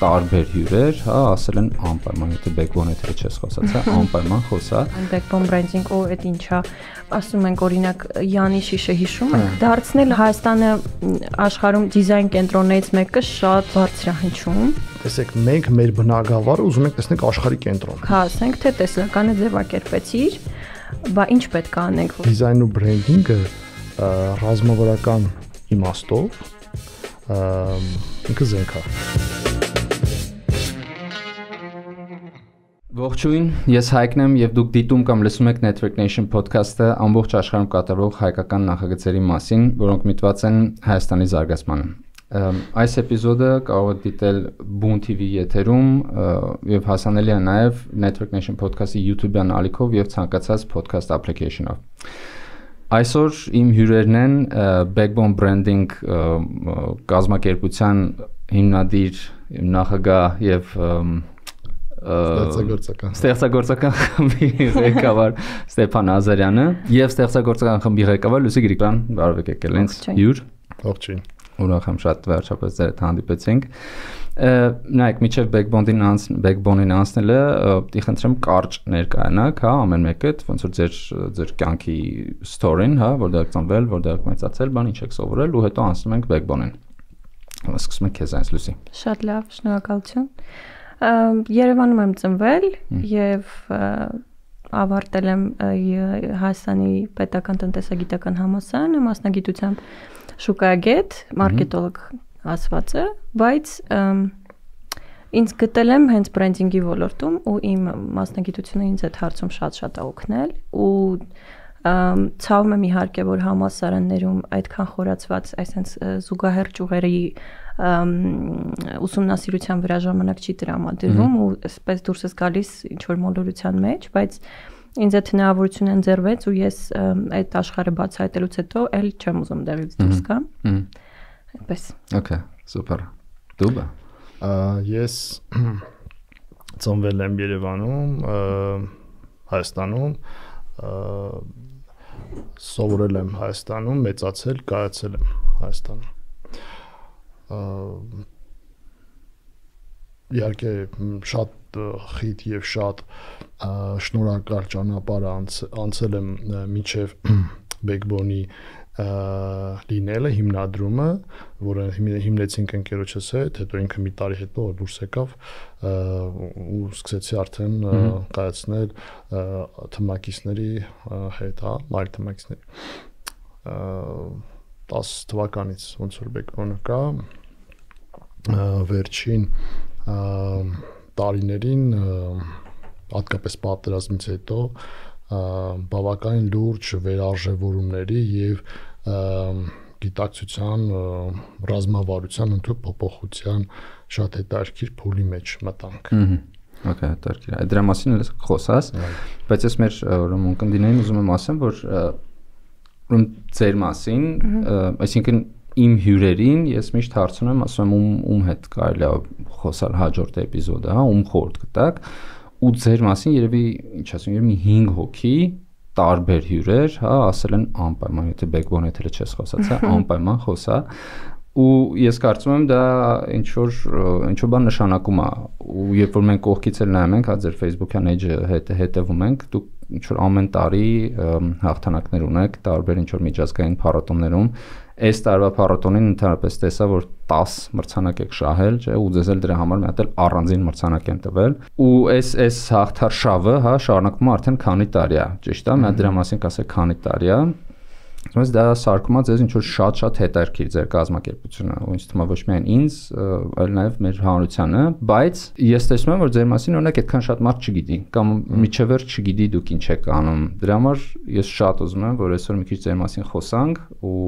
տարբեր հյուրեր, հա, ասել են անպայման, եթե backbone եթե չես խոսած, հա, անպայման խոսա։ Backbone branding ու այդ ինչա, ասում ենք օրինակ Յանի Շիշը հիշում եք, դարձնել Հայաստանը աշխարհում դիզայն կենտրոններից մեկը շատ բարձրահնչում։ Տեսեք, մենք մեր բնակավարը ուզում ենք տեսնել աշխարհի կենտրոն։ Հա, ասենք թե տեսլականը ձևակերպեցիր, բա ինչ պետք է անենք։ Դիզայնը ու բրենդինգը ռազմավարական իմաստով ինքը զենք է։ Ողջույն, ես Հայկն եմ եւ դուք դիտում կամ լսում եք Network Nation podcast-ը ամբողջ աշխարհում կատարվող հայկական նախագծերի մասին, որոնք միտված են Հայաստանի զարգացմանը։ Այս էպիզոդը կարող եք դիտել Boom TV եթերում եւ հասանելի է նաեւ Network Nation podcast-ի YouTube-յան ալիքով եւ ցանկացած podcast application-ով։ Այսօր իմ հյուրերն են Backbone Branding կազմակերպության հիմնադիր, նախագահ եւ ստեղծագործական խմբի ղեկավար Ստեփան Ազարյանը եւ ստեղծագործական խմբի ղեկավար Լուսի Գրիգորյան, բարև եկել ինձ հյուր։ Ողջույն։ Ուրախ եմ շատ վերջապես ձեր հետ հանդիպեցինք։ Նայեք, միջև Backbone-ին անցնելը, պիտի խնդրեմ կարճ ներկայանաք, հա, ամեն մեկդ, ոնց որ ձեր կյանքի story-ն, հա, որտեղ եք ծնվել, որտեղ եք մեծացել, բան ինչ եք սովորել ու հետո անցնում ենք Backbone-ին։ Սկսում ենք քեզանից, Լուսի։ Շատ լավ, շնորհակալություն։ Երևանում եմ ծնվել եւ ավարտել եմ Հայաստանի պետական տնտեսագիտական համալսարանը, մասնագիտությամբ շուկայագետ, մարքետոլոգ ասվածը, բայց ինձ գտել եմ հենց բրենդինգի ոլորտում ու իմ մասնագիտությունը ինձ այդ հարցում շատ է օգնել ու ցավում եմ իհարկե, որ համալսարաններում այդքան խորացված այսպես զուգահեռ ճյուղերի ուսումնասիրության վրա ժամանակ չի տրամադրվում ու այսպես դուրս ես գալիս ինչ որ մոլորության մեջ, բայց ինձ այդ հնարավորությունը ընձեռվեց ու ես այդ աշխարհը բացահայտելուց հետո էլ չեմ ուզում դեռից դուրս գամ։ Այդպես։ Okay, super։ Դու բա։ Ես ծնվել եմ Երևանում, Հայաստանում, սովորել եմ Հայաստանում, մեծացել, կայացել եմ Հայաստանում։ Իհարկե շատ խիտ եւ շատ շնորհակալ ճանապարհ անցել եմ միջև Backbone-ի լինելը, հիմնադրումը, որը հիմնեցինք ընկերոջս հետ, հետո ինքը մի տարի հետո դուրս եկավ ու սկսեցի արդեն կայացնել թմակիցների հետ, հա, այլ թմակիցների 10 թվականից ոնց որ Backbone-ը կա, վերջին տարիներին հատկապես պատերազմից հետո բավականին լուրջ վերարժևորումների եւ գիտակցության ռազմավարության ընդհանուր փոփոխության շատ հետաքրքիր փուլի մեջ մտանք։ Okay, հետաքրքիր։ Այդ դրա մասին էլ խոսաս, բայց ես մեր ուրեմն կնդիներին ուզում եմ ասեմ, որ ուրեմն ձեր մասին, այսինքն իմ հյուրերին ես միշտ հարցնում եմ, ասում եմ ում հետ կարելի է խոսալ հաջորդ էպիզոդը, հա, ում խորտ կտակ ու ձեր մասին երևի, ինչ ասում, երևի 5 հոգի տարբեր հյուրեր, հա, ասել են անպայման, եթե Backbone եթե չես խոսած, հա, անպայման խոսա ու ես կարծում եմ դա ինչ որ բան նշանակում է ու երբ որ մենք կողքից էլ նայում ենք, հա, ձեր Facebook-յան էջը հետևում ենք, դուք ինչ որ ամեն տարի հաղթանակներ ունեք տարբեր ինչ որ միջազգային փառատոներում։ Այս տարվա փառատոնին ընդհանրապես տեսա, որ 10 մրցանակ եք շահել, չէ՞, ու ձեզ էլ դրա համար մի հատ էլ առանձին մրցանակ են տվել։ Ու այս հաղթարշավը, հա, շարունակվում է արդեն քանի տարի է, ճիշտ է, մի հատ դրա մասին կասեք քանի տարի է։ Բայց դա սարքում է ձեզ ինչ որ շատ հետաքրքիր ձեր կազմակերպությունը, ու ինձ թվում է ոչ միայն ինձ, այլ նաև մեր հանրությանը, բայց ես տեսնում եմ, որ ձեր մասին օրինակ այդքան շատ մարդ չգիտի, կամ միջևեր չգիտի դուք ինչ եք անում։ Դրա համար ես շատ ուզում եմ, որ այսօր մի քիչ ձեր մասին խոսանք ու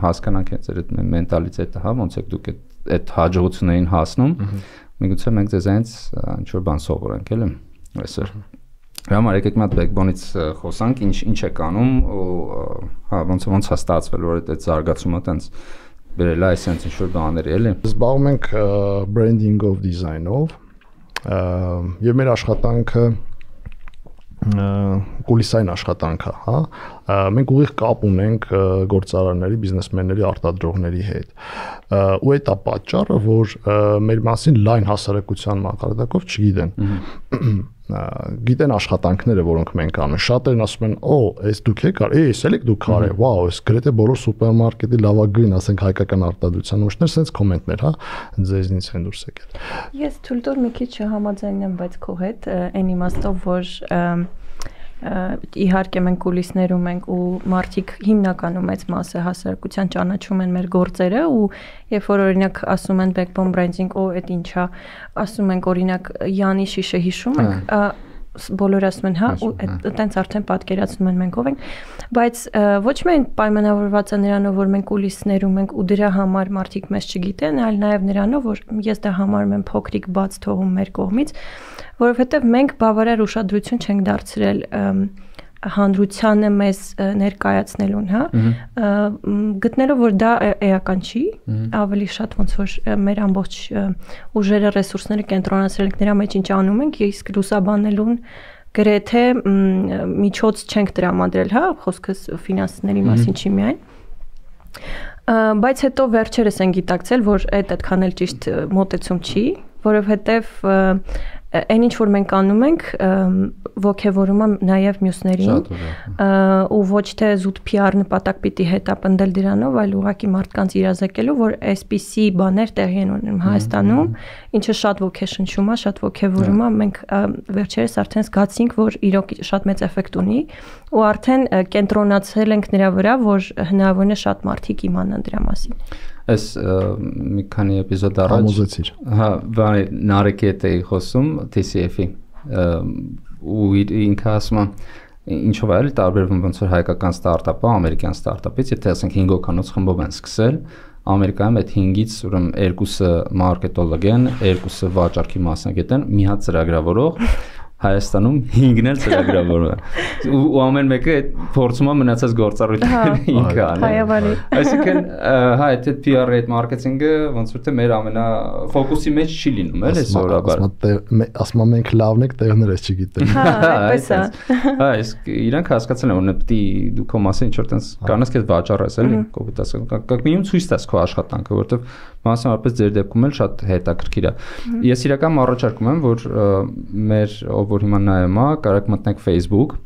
հասկանանք ձեր այդ մենտալիտետը, հա, ոնց եք դուք այդ հաջողություններին հասնում։ Միգուցե մենք ձեզանից ինչ որ բան սովորենք, էլի այսօր։ Համար եկեք մի հատ Backbone-ից խոսանք, ինչ եք անում ու հա ոնց է ստացվել, որ այդ զարգացումը տենց բերել է այսպես ինչ որ բաների, էլի։ Զբաղվում ենք branding-ով, design-ով, եւ մեր աշխատանքը կուլիսային աշխատանք է, հա։ Մենք ուղիղ կապ ունենք գործարարների, բիզնեսմենների, արտադրողների հետ։ Ու այդ է պատճառը, որ մեր մասին լայն հասարակության մակարդակով չգիտեն։ Գիտեն աշխատանքները, որոնք մենք անում։ Շատերն ասում են, «Օ, այս դուք եք արել, էս էլ եք դուք արել, վաու, այս գրեթե բոլոր սուպերմարկետի լավագույն, ասենք հայկական արտադրության ուժներ, sense կոմենտներ, հա, ձեզնից են դուրս եկել»։ Ես թույլ տուր մի քիչ համաձայնեմ, բայց քո հետ այն իմաստով, որ իհարկե մենք կուլիսներում ենք ու մարդիկ հիմնականում մեծ մասը հասարակության ճանաչում են մեր գործերը ու երբ որ օրինակ ասում են backbone branding, այդ ինչա, ասում ենք օրինակ Յանի շիշը հիշում ենք, բոլորը ասում են, հա, ու այտենց արդեն պատկերացնում են մենք ով ենք, բայց ոչ միայն պայմանավորված է նրանով, որ մենք կուլիսներում ենք ու դրա համար մարդիկ մեզ չգիտեն, այլ նաև նրանով, որ ես դա համարում եմ փոքրիկ բաց թողում մեր կողմից, որովհետև մենք բավարար ուշադրություն չենք դարձրել հանրությանը մեզ ներկայացնելուն, հա, գտնելով որ դա էական չի, ավելի շատ ոնց որ մեր ամբողջ ուժերը, ռեսուրսները կենտրոնացրել ենք նրա մեջ ինչ անում ենք, իսկ լուսաբանելուն գրեթե միջոց չենք տրամադրել, հա, խոսքս ֆինանսների մասին չի միայն, բայց հետո վերջերս են գիտակցել, որ այդքան էլ ճիշտ մոտեցում չի, որովհետև այն ինչ որ մենք անում ենք ոգևորում է նաև մյուսներին ու ոչ թե զուտ PR նպատակ պիտի հետապնդել դրանով, այլ ուղղակի մարդկանց իրազեկելու, որ այսպիսի բաներ տեղի են ունենում Հայաստանում, ինչը շատ ոգեշնչում է, շատ ոգևորում է, մենք վերջերս արդեն զգացինք, որ իրոք շատ մեծ էֆեկտ ունի ու արդեն կենտրոնացել ենք նրա վրա, որ հնարավորին է շատ մարդիկ իմանան դրա մասին։ Այս մի քանի էպիզոդ առաջ համոզեցիր։ Հա, բանի Նարեկի հետ էի խոսում TCF-ի ու ինքը ասում է ինչով է տարբերվում ոնց որ հայկական ստարտափը ամերիկյան ստարտափից, եթե ասենք 5 հոգանոց խմբով են սկսել, Ամերիկայում այդ 5-ից ուրեմն 2-ը մարքետոլոգ են, 2-ը վաճառքի մասնագետ են, մի հատ ծրագրավորող Հայաստանում 5-ն էլ ծրագրավորում է ու ամեն մեկը այդ փորձում է մնացած գործառույթները ինքը անում։ Այսինքն հա այդ PR-ը այդ մարքեթինգը ոնց որ թե մեր ամենա ֆոկուսի մեջ չի լինում, էլի սովորաբար։ Ասում եմ մենք լավն եք, տեղներս չգիտեն։ Հա, այդպես է։ Հա, իսկ իրանք հասկացել են, որ պիտի դու քո մասին ինչ որ տես կանաս քեզ վաճառես, էլի, կոպիտ ասած, как минимум ցույց տաս քո աշխատանքը, որովհետև մասնավորապես ձեր դեպքում էլ շատ հետաքրքիր է։ Ես իրական առաջարկում եմ, որ մեր որ հիմա նայում է, կարեք մտնեք Facebook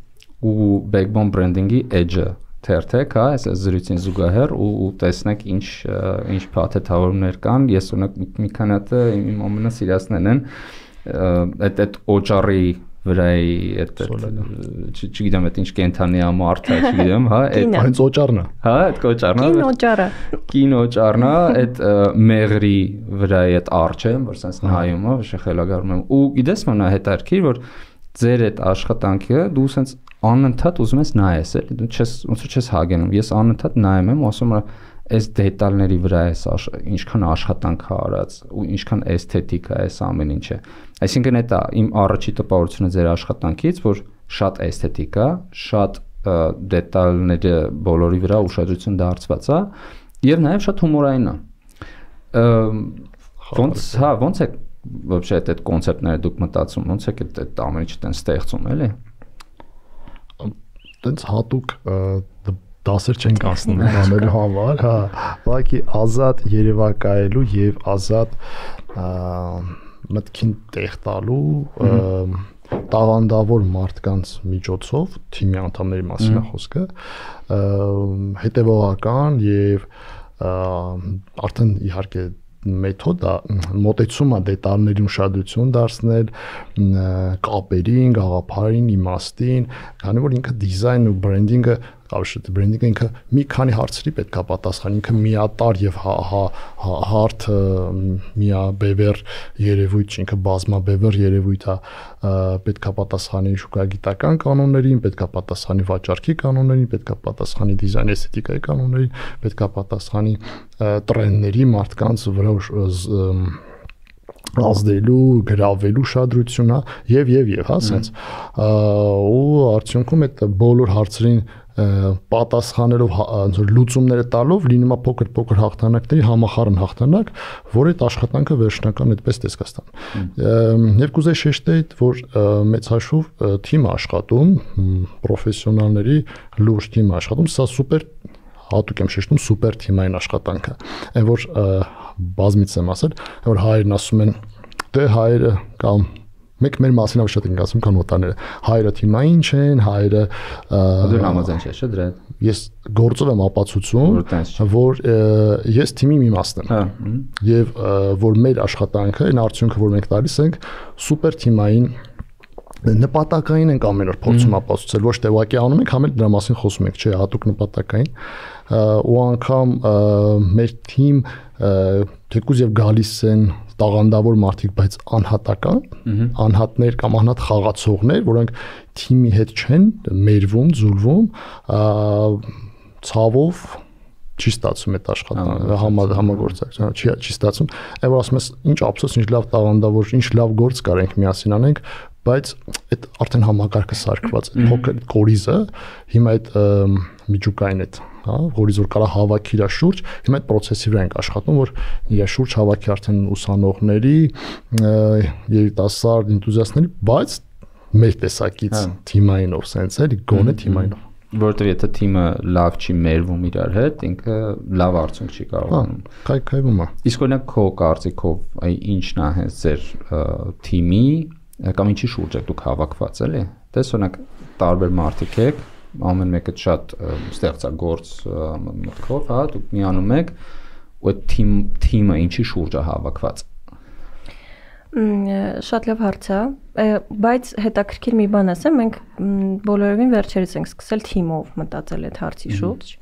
ու backbone branding-ի edge-ը թերթեք, հա, այս զրույցին զուգահեռ ու տեսնեք ինչ փաթեթավորումներ կան։ Ես ունենք մի քանի հատ իմ ամենասիրածներն են, այդ օճառի վրայի այդ չգիտեմ այդ ինչ կենթանի է մարդը, չգիտեմ, հա, այդ հենց օճառն է։ Հա, այդ օճառն է։ Կինոճառը։ Կինոճառն է, այդ մեղրի վրայի այդ արջը, որ sense նայում է, շխելագարում եմ։ Ու գիտես մնա հետարքիր, որ ձեր այդ աշխատանքը դու sense անընդհատ ուզում ես նայես, էլի, դու չես ոնց որ չես հագենում։ Ես անընդհատ նայում եմ ու ասում եմ այս դետալների վրա էս ինչքան աշխատանք է արած ու ինչքան էսթետիկ է այս ամեն ինչը։ Այսինքն դա իմ առաջի տպավորությունը ձեր աշխատանքից, որ շատ էսթետիկ է, շատ դետալները բոլորի վրա ուշադրություն դարձված է եւ նաեւ շատ հումորային է։ Ոնց է вообще այդ կոնցեպտները դուք մտածում, ոնց է այդ ամեն ինչը տեն ստեղծում, էլի։ Տենց հատուկ դասեր չենք անցնում անելու համար, հա, ուղղակի ազատ երևակայելու եւ ազատ մտքին տեղ տալու տաղանդավոր մարդկանց միջոցով թիմի անդամների մասին է խոսքը, հետևողական եւ արդեն իհարկե մեթոդ մոտեցումը դետալների ուշադրություն դարձնել կապերին, գաղափարին, իմաստին, քանի որ ինքը դիզայնը ու բրենդինգը Ավշետ բրենդինգը ինքը մի քանի հարցերի պետք է պատասխանի, ինքը միատար եւ հարթ միաբևեռ երևույթ, ինքը բազմաբևեռ երևույթ է, պետք է պատասխանի շուկայագիտական կանոններին, պետք է պատասխանի վաճառքի կանոններին, պետք է պատասխանի դիզայն էսթետիկայի կանոններին, պետք է պատասխանի տրենդների մարդկանց վրա ազդելու, գրավելու շադրությունը եւ հա, sense ու արդյունքում այդ բոլոր հարցերին պատասխանելով ոնց որ լուծումները տալով լինում է փոքր հաղթանակների համախառն հաղթանակ, որ այդ աշխատանքը վերջնական այդպես տեսքա ստանում։ Եվ կուզեի շեշտել, որ մեծ հաշվով թիմը աշխատում, պրոֆեսիոնալների լուրջ թիմը աշխատում, սա սուպեր հատուկ եմ շեշտում սուպեր թիմային աշխատանքը։ Այն որ բազմից եմ ասել, որ հայերն ասում են դե հայերը կամ մեկ մեր մասին ավելի շատ են ասում, քան օտարները։ Հայերը թիմային չեն, հայերը դու համաձայն ես, չէ՞ դրա հետ։ Ես գործով եմ ապացուցում, որ ես թիմի մի մասն եմ։ Եվ որ մեր աշխատանքը, այն արդյունքը, որ մենք տալիս ենք, սուպեր թիմային նպատակային ենք ամեն օր փորձում ապացուցել, ոչ թե ուղղակի անում ենք, համ էլ դրա մասին խոսում ենք, չէ, հատուկ նպատակային։ Ու անգամ մեր թիմ թեկուզ եւ գալիս են տաղանդավոր մարդիկ, բայց անհատական, անհատներ կամ անհատ խաղացողներ, որոնք թիմի հետ չեն մերվում, զուլվում, ցավով չի ստացվում այդ աշխատանքը, համագործակցություն չի ստացվում։ Այո, որ ասում ես, ինչ ափսոս, ինչ լավ տաղանդավոր, ինչ լավ գործ կարենք միասին անենք, բայց այդ արդեն համակարգը սարքված է, փոքր կորիզը, հիմա այդ միջուկային այդ, հա, որից որ կարա հավաքի իր շուրջ, հիմա այդ process-ի վրա ենք աշխատում, որ իր շուրջ հավաքի արդեն ուսանողների, երիտասարդ энտուզիաստների, բայց մեր տեսակից թիմայինով sense էլի, գոնե թիմայինով։ Որտեղ եթե թիմը լավ չի մերվում իրար հետ, ինքը լավ արդյունք չի կարողանում։ Քայքայվում է։ Իսկ օրինակ քո կարծիքով ինչն է հենց ձեր թիմի կամ ինչի շուրջ եք դուք հավաքված էլի։ Դες օրինակ տարբեր մարդիկ եք, ամեն մեկը շատ ստեղծագործ մտքով, հա, դուք միանում եք ու այդ թիմը ինչի շուրջ է հավաքված։ Շատ լավ հարց է, բայց հետաքրքիր մի բան ասեմ, մենք բոլորովին վերջերս ենք սկսել թիմով մտածել այդ հարցի շուրջ։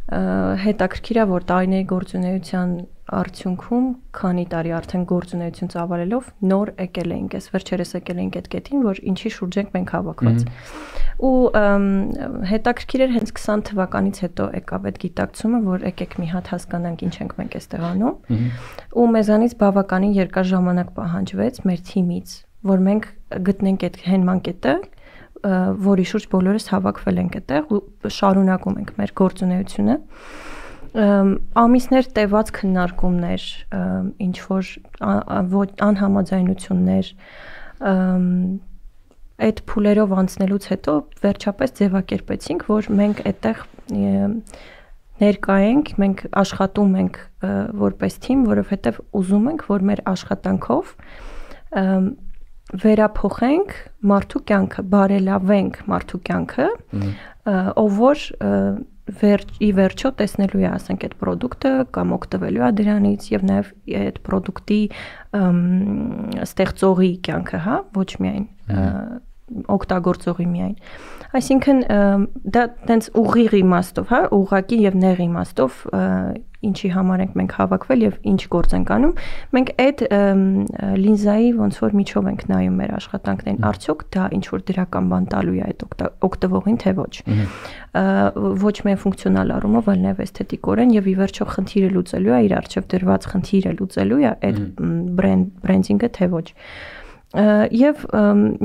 Հետաքրքիր է, որ տարիների գործունեության արդյունքում քանի տարի արդեն գործունեություն ծավալելով նոր եկել ենք, այս վերջերս եկել ենք այդ կետին, որ ինչի շուրջ ենք մենք հավաքված։ Ու հետաքրքիր էր հենց 20 թվականից հետո եկավ այդ գիտակցումը, որ եկեք մի հատ հասկանանք ինչ ենք մենք այստեղ անում։ Ու մեզանից բավականին երկար ժամանակ պահանջվեց մեր թիմից, որ մենք գտնենք այդ հենման կետը, որի շուրջ բոլորս հավաքվել ենք այդտեղ ու շարունակում ենք մեր գործունեությունը։ Ամիսներ տևած քննարկումներ, ինչ որ անհամաձայնություններ, այդ փուլերով անցնելուց հետո վերջապես ձևակերպեցինք, որ մենք այդտեղ ներկա ենք, մենք աշխատում ենք որպես թիմ, որովհետև ուզում ենք, որ մեր աշխատանքով վերափոխենք մարդու կյանքը, բարելավենք մարդու կյանքը, ով որ ի վերջո տեսնելու է, ասենք, այդ պրոդուկտը կամ օգտվելու է դրանից եւ նաեւ այդ պրոդուկտի ստեղծողի կյանքը, հա, ոչ միայն օգտագործողի միայն։ Այսինքն դա տենց ուղիղ իմաստով, հա, ուղղակի եւ նեղ իմաստով ինչի համար ենք մենք հավաքվել եւ ինչ գործ ենք անում, մենք այդ լինզայի ոնց որ միջով ենք նայում մեր աշխատանքներին, արդյոք դա ինչ որ դրական բան տալու է այդ օգտվողին, թե ոչ։ Ոչ միայն ֆունկցիոնալ առումով, այլ նաեւ էսթետիկորեն եւ ի վերջո խնդիրը լուծելու է, իր արժեվ դրված խնդիրը լուծելու է այդ բրենդինգը, թե ոչ։ Եվ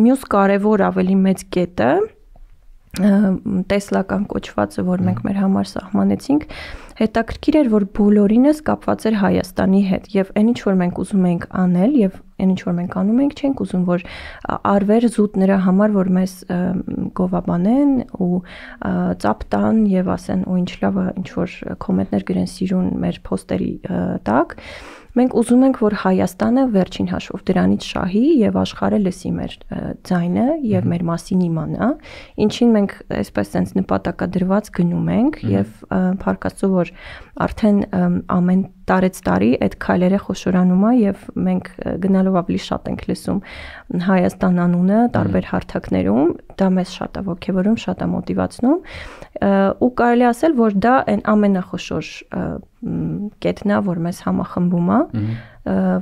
մյուս կարևոր ավելի մեծ կետը տեսլական կոչվածը, որ մենք մեր համար սահմանեցինք, հետաքրքիր էր, որ բոլորինս կապված էր Հայաստանի հետ եւ այն ինչ որ մենք ուզում ենք անել եւ այն ինչ որ մենք անում ենք, չենք ուզում որ արվեր զուտ նրա համար, որ մեզ գովաբանեն ու ծափ տան եւ ասեն ու ինչ լավ է, ինչ որ կոմենտներ գրեն սիրուն մեր պոստերի տակ։ Մենք ուզում ենք, որ Հայաստանը վերջին հաշվով դրանից շահի եւ աշխարհը լսի մեր ձայնը եւ մեր մասին իմանա, ինչին մենք այսպես sense նպատակադրված գնում ենք եւ փառք Աստծո, որ արդեն ամեն տարի այդ քայլերը խոշորանում է եւ մենք գնալով ավելի շատ ենք լսում Հայաստան անունը տարբեր հարթակներում, դա մեզ շատ է ոգևորում, շատ է մոտիվացնում ու կարելի ասել, որ դա այն ամենախոշոր կետն է, որ մեզ համախմբում է,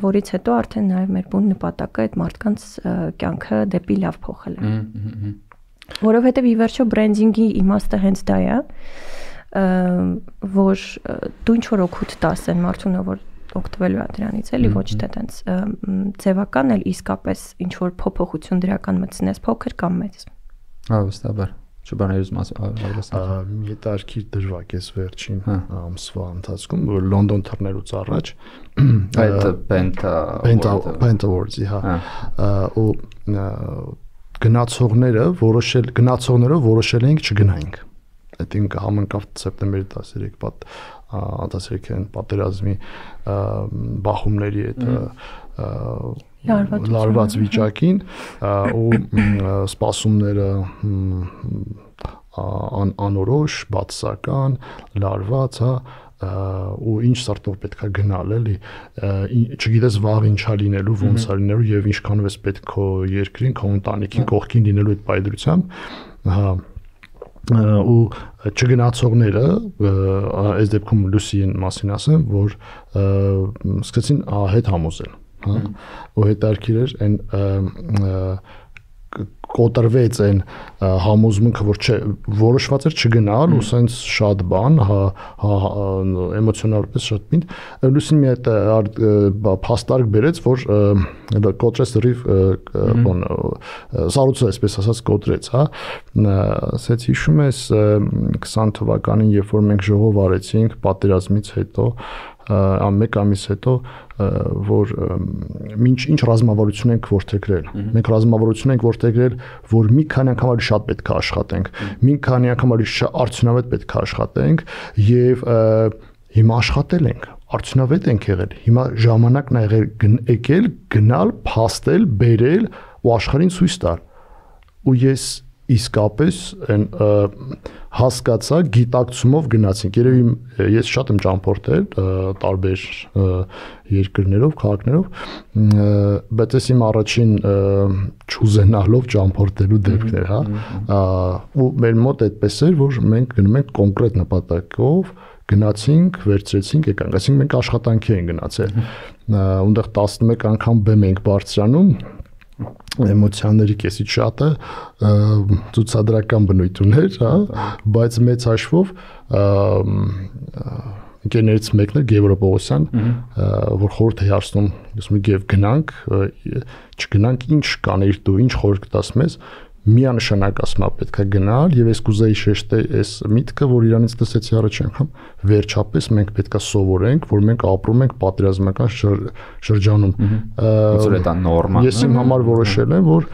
որից հետո արդեն նաեւ մեր բուն նպատակը այդ մարդկանց կյանքը դեպի լավ փոխելը։ Որովհետեւ ի վերջո բրենդինգի իմաստը հենց դա է, որ դու ինչ որ օգուտ տաս այն մարդուն, որ օգտվելու է դրանից, էլի ոչ թե տենց ձևական էլ իսկապես ինչ որ փոփոխություն դրական մտցնես, փոքր կամ մեծ։ Հավստաբար։ Չբաներից ավելացնել։ Մի հետարքիր դրվագ էս վերջին ամսվա ընթացքում, որ Լոնդոն թռնելուց առաջ այդ Penta Awards-ի, հա, ու գնացողները որոշել էինք չգնայինք։ Այդ համընկավ սեպտեմբերի 13-ին պատերազմի բախումների հետ լարված վիճակին ու սպասումները անորոշ, բացասական, լարված, հա, ու ինչ սարտով պետքա գնալ, էլի, չգիտես վաղ ինչա լինելու, ոնց է լինելու եւ ինչքանով էս պետք քո երկրին, քո ընտանիքին կողքին լինելու այդ պայծրությամբ, հա, ու չգնացողները, այս դեպքում Լուսիին մասին ասեմ, որ սկսեցին հետ համոզել, հա, ու հետարքիր էր այն կոտրվեց այն համոզմունքը, որ որոշված էր չգնալ, ու սենց շատ բան, էմոցիոնալպես շատ պինդ, Լուսին մի այդ փաստարկ բերեց, որ կոտրեց դրիվ սառույցը այսպես ասած կոտրեց, հա, ասեց հիշում ես 20 թվականին, երբ որ մենք ժողով արեցինք պատերազմից հետո, մեկ ամիս հետո, որ ինչ ռազմավարություն ենք որդեգրել։ Մենք ռազմավարություն ենք որդեգրել, որ մի քանի անգամ ավելի շատ պետք է աշխատենք, մի քանի անգամ ավելի արդյունավետ պետք է աշխատենք եւ հիմա աշխատել ենք, արդյունավետ ենք եղել։ Հիմա ժամանակն է եկել գնալ, փաստել, բերել ու աշխարհին ցույց տալ։ Ու ես իսկապես այն հասկացա գիտակցումով գնացինք։ Երևի ես շատ եմ ճամփորդել տարբեր երկրներով, քաղաքներով, բայց ես իմ առաջին չուզենալով ճամփորդելու դեպքն էր, հա։ Ու մեր մոտ այդպես էր, որ մենք գնում ենք կոնկրետ նպատակով, գնացինք, վերցրեցինք, եկանք, այսինքն մենք աշխատանքի ենք գնացել։ Ունդեղ 11 անգամ բեմ ենք բարձրանում, էմոցիաների կեսից շատը ցուցադրական բնույթ ուներ, հա, բայց մեծ հաշվով ընկերներից մեկն է Գևորգ Պողոսյան, որ խորհուրդ է հարցնում, ասում է Գև գնանք, չգնանք, ինչ կանեիր դու, ինչ խորհուրդ կտաս մեզ, միանշանակ ասում է պետքա գնալ եւ ես կուզեի շեշտել այս միտքը, որ իրանից լսեցի առաջ անգամ, վերջապես մենք պետքա սովորենք, որ մենք ապրում ենք պատերազմական շրջանում։ Որ դա նորմալ է։ Ես իմ համար որոշել եմ, որ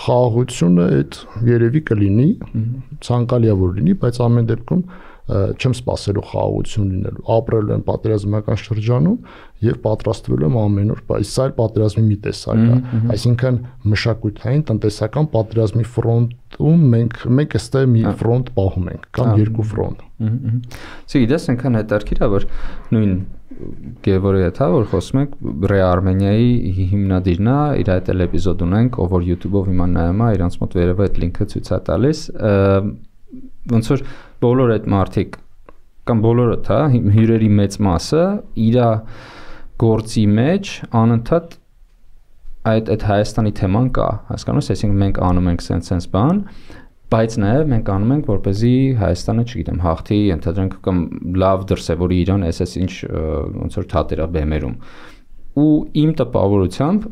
խաղաղությունը այդ երևի կլինի, ցանկալի է որ լինի, բայց ամեն դեպքում չեմ սպասելու խաղաղություն լինելու, ապրել եմ պատերազմական շրջանում եւ պատրաստվել եմ ամեն օր, բայց սա էլ պատերազմի մի տեսակ է, այսինքն մշակութային, տնտեսական պատերազմի ֆրոնտում մենք այստեղ մի ֆրոնտ պահում ենք, կամ երկու ֆրոնտ։ Գիտես, այնքան հետաքրքիր է, որ նույն Գևորգի հետ, որ խոսում ենք Ռե Արմենիայի հիմնադիրն է, իր այդ էպիզոդ ունենք, ով որ YouTube-ով հիմա նայում է, իրանց մոտ վերևը այդ լինքը ցույց է տալիս, ոնց որ բոլոր այդ մարդիկ կամ բոլորը, հա, հյուրերի մեծ մասը իր գործի մեջ անընդհատ այդ Հայաստանի թեման կա, հասկանում ես, այսինքն մենք անում ենք sense բան, բայց նաև մենք անում ենք, որպեսզի Հայաստանը, չգիտեմ, հաղթի, ընդհանրենք կամ լավ դրսևորի իրան, այս ինչ ոնց որ թատերա բեմերում։ Ու իմ տպավորությամբ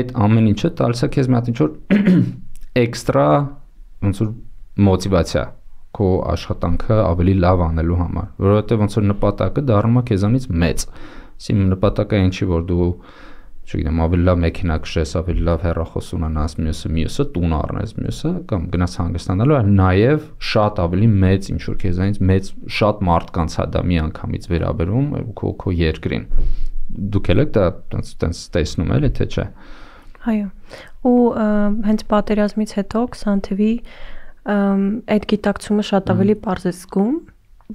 այդ ամեն ինչը տալիս է քեզ մի հատ ինչ որ էքստրա ոնց որ մոտիվացիա քո աշխատանքը ավելի լավ անելու համար, որովհետև ոնց որ նպատակը դառնում է քեզանից մեծ։ Իմ նպատակը ինչի որ դու, չգիտեմ, ավելի լավ մեքենա քշես, ավելի լավ հեռախոս ունենաս, մյուսը տուն առնես, մյուսը կամ գնաս հանգստանալու, այլ նաև շատ ավելի մեծ ինչ որ քեզանից մեծ շատ մարդկանց հա դա մի անգամից վերաբերում քո երկրին։ Դուք եք դա տենց տեսնում եք, թե չէ։ Այո։ Ու հենց պատերազմից հետո 20 թվի այդ գիտակցումը շատ ավելի པարզ է զգում,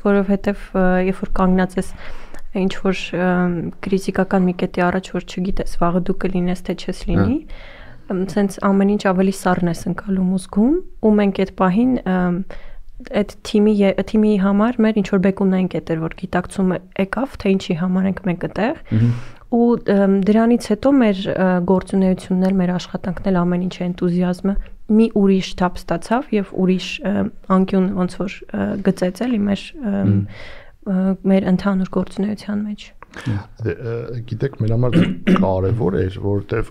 որովհետև երբ որ կանգնած ես ինչ որ քրիտիկական մի կետի առաջ, որ չգիտես վաղը դու կլինես թե չես լինի, սենց ամեն ինչ ավելի սառն ես ընկալում ու զգում, ու մենք այդ պահին այդ թիմի համար մեր ինչ որ բեկումնային կետ էր, որ գիտակցումը եկավ, թե ինչի համար ենք մենք այդտեղ, ու դրանից հետո մեր գործունեությունն էլ, մեր աշխատանքն էլ ամեն ինչ էնտուզիազմը մի ուրիշ թափ ստացավ եւ ուրիշ անկյուն ոնց որ գծեց էլի մեր ընդհանուր գործունեության մեջ։ Գիտեք, մեր համար կարևոր էր, որովհետեւ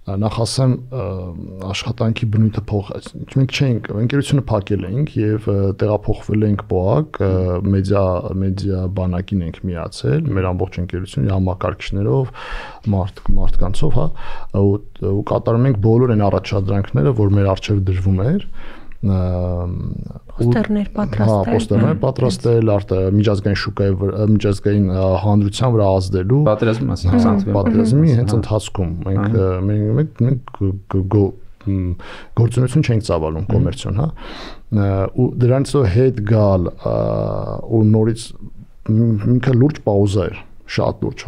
նախ ասեմ աշխատանքի բնույթը մենք չենք ընկերությունը փակել ենք եւ տեղափոխվել ենք ՊՕԱԿ մեդիա բանակին ենք միացել մեր ամբողջ ընկերությունը համակարգիչներով մարդկանցով հա ու կատարում ենք բոլոր այն առաջադրանքները որ մեր առջև դրվում էր պոստերներ պատրաստել միջազգային շուկայի միջազգային հանրության վրա ազդելու պատերազմի հենց ընթացքում մենք գործունեություն չենք ծավալում կոմերցիոն հա ու դրանցով հետ գալ ու նորից ինքը լուրջ պաուզա էր շատ լուրջ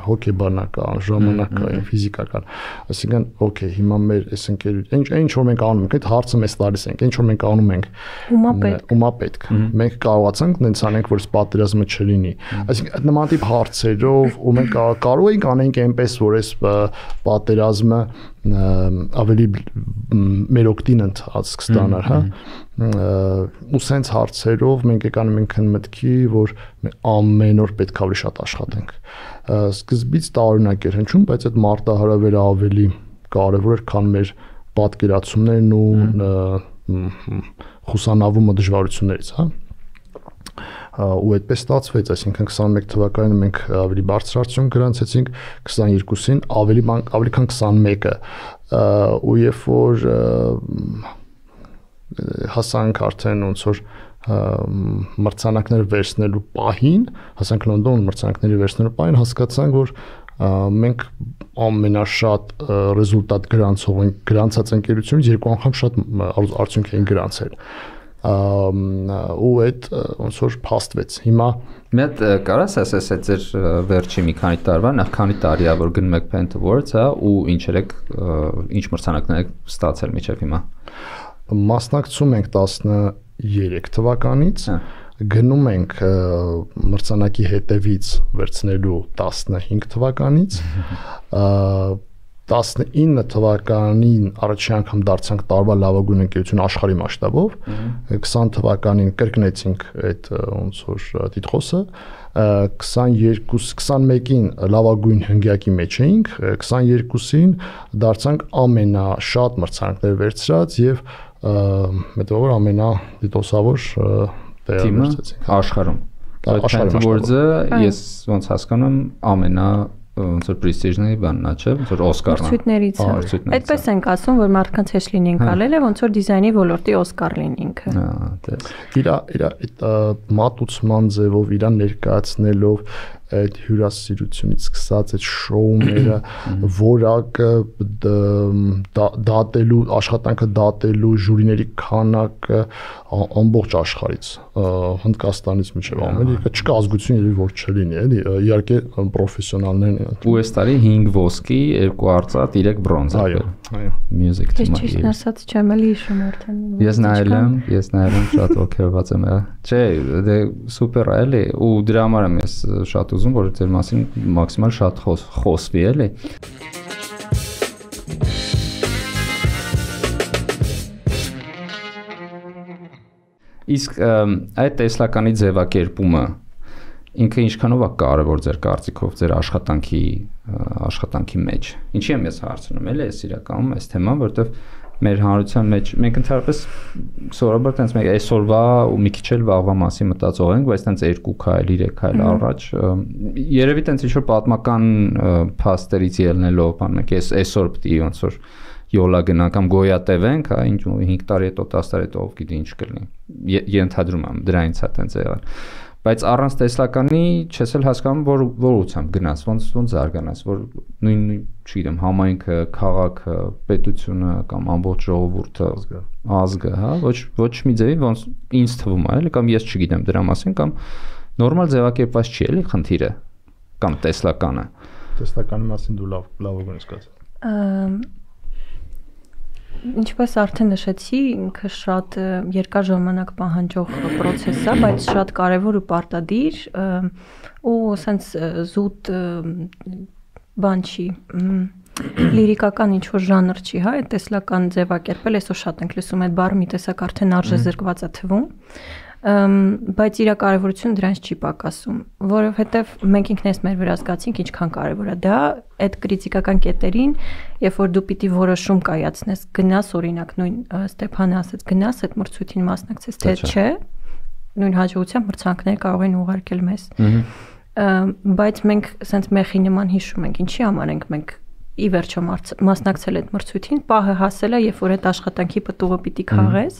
հոգեբանական, ժամանակային, ֆիզիկական, այսինքն օքեյ, հիմա մեր այս ընկերությունը, ինչ որ մենք անում ենք, այդ հարցը մեզ տալիս ենք, ինչ որ մենք անում ենք, ումա պետք։ Մենք կարողացանք նենց անենք, որ պատերազմը չլինի։ Այսինքն նման տիպ հարցերով ու մենք կարող ենք անենք այնպես, որ այս պատերազմը ավելի մեր օգտին ընթաց կստանար, հա։ Ու սենց հարցերով մենք եկանում ենք մտքի, որ ամեն օր պետք է ավելի շատ աշխատենք։ Սկզբից տարօրինակ էր հնչում, բայց այդ մարտահրավերը ավելի կարևոր էր, քան մեր պատկերացումներն ու խուսանավումը դժվարություններից, հա։ Ու այդպես ստացվեց, այսինքն 21 թվականին մենք ավելի բարձր արդյունք գրանցեցինք, 22-ին ավելի քան 21-ը, ու երբ որ հասանք արդեն ոնց որ մրցանակներ վերցնելու պահին, հասանք Լոնդոն մրցանակների վերցնելու պահին, հասկացանք, որ մենք ամենաշատ ռեզուլտատ գրանցած ընկերությունից երկու անգամ շատ արդյունք էին գրանցել։ Ու այդ ոնց որ փաստվեց։ Հիմա մի հատ կարաս ասես այդ ձեր վերջի մի քանի տարվա, նախ քանի տարի է որ գնում եք Paint Awards, հա, ու ինչ մրցանակներ եք ստացել միջև հիմա։ Մասնակցում ենք 13 թվականից, գնում ենք մրցանակի հետևից վերցնելու 15 թվականից, 19 թվականին առաջին անգամ դարձանք տարվա լավագույն ընկերություն աշխարհի մասշտաբով, 20 թվականին կրկնեցինք այդ ոնց որ տիտղոսը, 21-ին լավագույն հնգյակի մեջ էինք, 22-ին դարձանք ամենաշատ մրցանակներ վերցրած եւ մետավոր ամենադիտոսավոր տեղը վերցրեցինք աշխարհում։ Paint Awards-ը ես ոնց հասկանում ամենա ոնց որ պրեստիժների բանն է, չէ՞, ոնց որ Օսկարն է։ Մրցույթներից։ Այդպես ենք ասում, որ մարդկանց հեշտ լինենք գալել է, ոնց որ դիզայնի ոլորտի Օսկար լինի ինքը։ Իր այդ մատուցման ձևով, իր ներկայացնելով այդ հյուրասիրությունից սկսած այդ շոուները, որակը դատելու, աշխատանքը դատելու ժյուրիների քանակը ամբողջ աշխարհից, Հնդկաստանից մինչև Ամերիկա, չկա ազգություն երևի որ չլինի, էլի, իհարկե պրոֆեսիոնալներն են։ Ու այս տարի 5 ոսկի, 2 արծաթ, 3 բրոնզ։ Այո։ Music թեմա։ Ճիշտ ասած չեմ էլի հիշում արդեն։ Ես նայել եմ, շատ ոգևորված եմ։ Չէ, դե սուպեր է, էլի, ու դրա համար եմ ես շատ ուզում, որ ձեր մասին մաքսիմալ շատ խոսվի, էլի։ Իսկ այդ տեսլականի ձևակերպումը ինքը ինչքանով է կարևոր ձեր կարծիքով ձեր աշխատանքի մեջ։ Ինչի եմ ես հարցնում, էլի, ես իրականում այս թեման, որովհետև մեր հանրության մեջ մենք ընդհանրապես սովորաբար տենց մենք այսօրվա ու մի քիչ էլ վաղվա մասին մտածող ենք, բայց տենց 2 քայլ, 3 քայլ առաջ երևի տենց ինչ որ պատմական փաստերից ելնելով, բան մենք այսօր պետք է ոնց որ յոլա գնանք կամ գոյատևենք, հա, ինչ 5 տարի հետո 10 տարի հետո ով գիտի ինչ կլինի։ Ենթադրում եմ դրանից է տենց եղել։ Բայց առանց տեսլականի չես էլ հասկանում որ ուղղությամբ գնաս, ոնց զարգանաս, որ նույն չգիտեմ, համայնքը, քաղաքը, պետությունը կամ ամբողջ ժողովուրդը, ազգը, հա, ոչ մի ձևի ոնց ինձ թվում է, էլի, կամ ես չգիտեմ դրա մասին, կամ նորմալ ձևակերպված չի, էլի, խնդիրը կամ տեսլականը։ Տեսլականի մասին դու լավագույնս կասես։ Ինչպես արդեն նշեցի, ինքը շատ երկար ժամանակ պահանջող process է, բայց շատ կարևոր ու պարտադիր ու սենց զուտ բան չի, լիրիկական ինչ-որ ժանր չի, հա, այդ տեսլական ձևակերպել, այսօր շատ ենք լսում այդ բառը, մի տեսակ արդեն արժեզրկված է թվում, բայց իր կարևորությունը դրանց չի պակասում, որովհետև մենք ինքներս մեր վրա զգացինք ինչքան կարևոր է դա այդ կրիտիկական կետերին, երբ որ դու պիտի որոշում կայացնես, գնաս օրինակ նույն Ստեփանը ասաց, գնաս այդ մրցույթին մասնակցես, թե չէ, նույն հաջողության մրցանակներ կարող են ուղարկել մեզ։ Բայց մենք ասենց մեխի նման հիշում ենք, ինչի համար ենք մենք ի վերջո մասնակցել այդ մրցույթին, պահը հասել է, երբ որ այդ աշխատանքի պտուղը պիտի քաղես,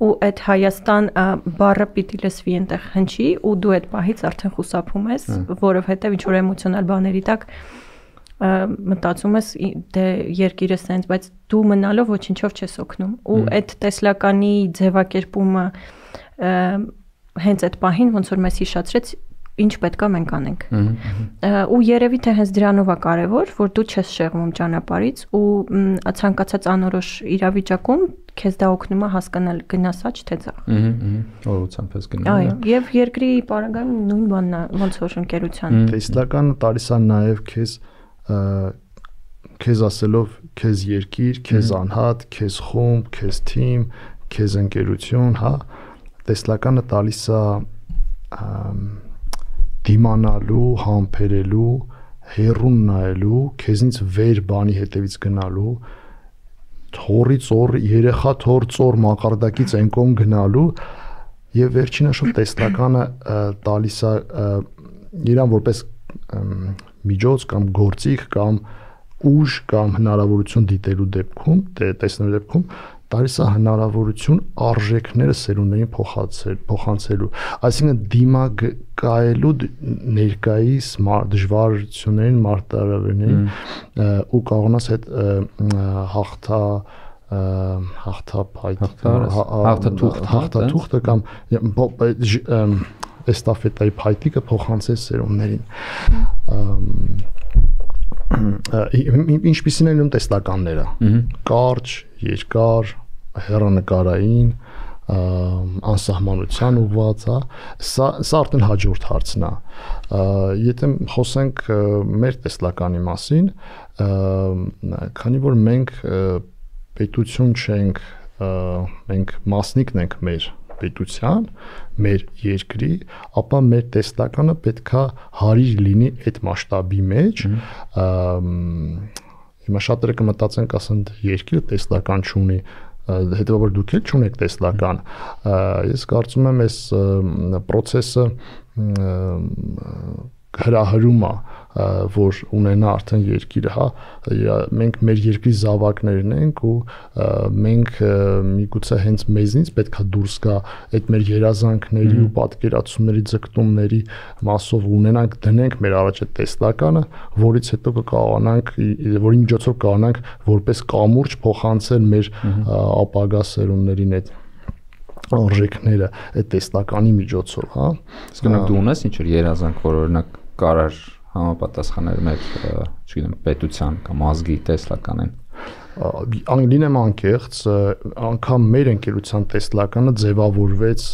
ու այդ Հայաստան բառը պիտի լսվի այնտեղ հնչի, ու դու այդ պահից արդեն խուսափում ես, որովհետև ինչ որ էմոցիոնալ բաների տակ մտածում ես դե երկիրը սենց, բայց դու մնալով ոչինչով չես օգնում, ու այդ տեսլականի ձևակերպումը հենց այդ պահին ոնց որ մեզ հիշացրեց ինչ պետք է մենք անենք։ Ու երևի թե հենց դրանով է կարևոր, որ դու չես շեղվում ճանապարհից ու ցանկացած անորոշ իրավիճակում քեզ դա օգնում է հասկանալ գնասա թե ցախ։ Օրությամբ ես գնում։ Այո, եւ երկրի պարագայում նույն բանն է ոնց որ ընկերության։ Տեսլականը տալիս է նաեւ քեզ ասելով քեզ երկիր, քեզ անհատ, քեզ խումբ, քեզ թիմ, քեզ ընկերություն, հա, տեսլականը տալիս է դիմանալու, համբերելու, հերուն նայելու, քեզնից վեր բանի հետևից գնալու, թորից օր երեխա թոր ծոր մակարդակից այն կողմ գնալու եւ վերջինը շուտ տեսլականը տալիս է իրան որպես միջոց կամ գործիք կամ ուժ կամ հնարավորություն դիտելու դեպքում, տեսնելու դեպքում տալիս է հնարավորություն արժեքները սերունդներին փոխանցելու, այսինքն դիմակայելու ներկայիս դժվարություններին, մարտահրավերներին ու կարողանաս այդ հաղթաթուղթը կամ էստաֆետայի փայտիկը փոխանցես սերունդներին։ Ինչպիսին են տեսլականները, կարճ, երկար, հեռանկարային, անսահմանության ուղղված, սա արդեն հաջորդ հարցն է։ Եթե խոսենք մեր տեսլականի մասին, քանի որ մենք պետություն չենք, մենք մասնիկն ենք մեր պետության, մեր երկրի, ապա մեր տեսլականը պետքա հարիր լինի այդ մասշտաբի մեջ։ Հիմա շատերը կմտածեն, ասեն երկիրը տեսլական չունի, հետևաբար դուք էլ չունեք տեսլական։ Ես կարծում եմ այս process-ը հրահրում է, որ ունենա արդեն երկիրը, հա, մենք մեր երկրի զավակներն ենք ու մենք միգուցե հենց մեզնից պետքա դուրս գա այդ մեր երազանքների ու պատկերացումների ձգտումների մասով ունենանք, դնենք մեր առաջ այդ տեսլականը, որից հետո կկարողանանք, որի միջոցով կարողանանք որպես կամուրջ փոխանցել մեր ապագա սերունդներին այդ արժեքները այդ տեսլականի միջոցով, հա։ Իսկ դու ունես ինչ որ երազանք, որ օրինակ կարար համապատասխաներ մեր, չգիտեմ, պետության կամ ազգի տեսլականին։ Լինեմ անկեղծ, անգամ մեր ընկերության տեսլականը ձևավորվեց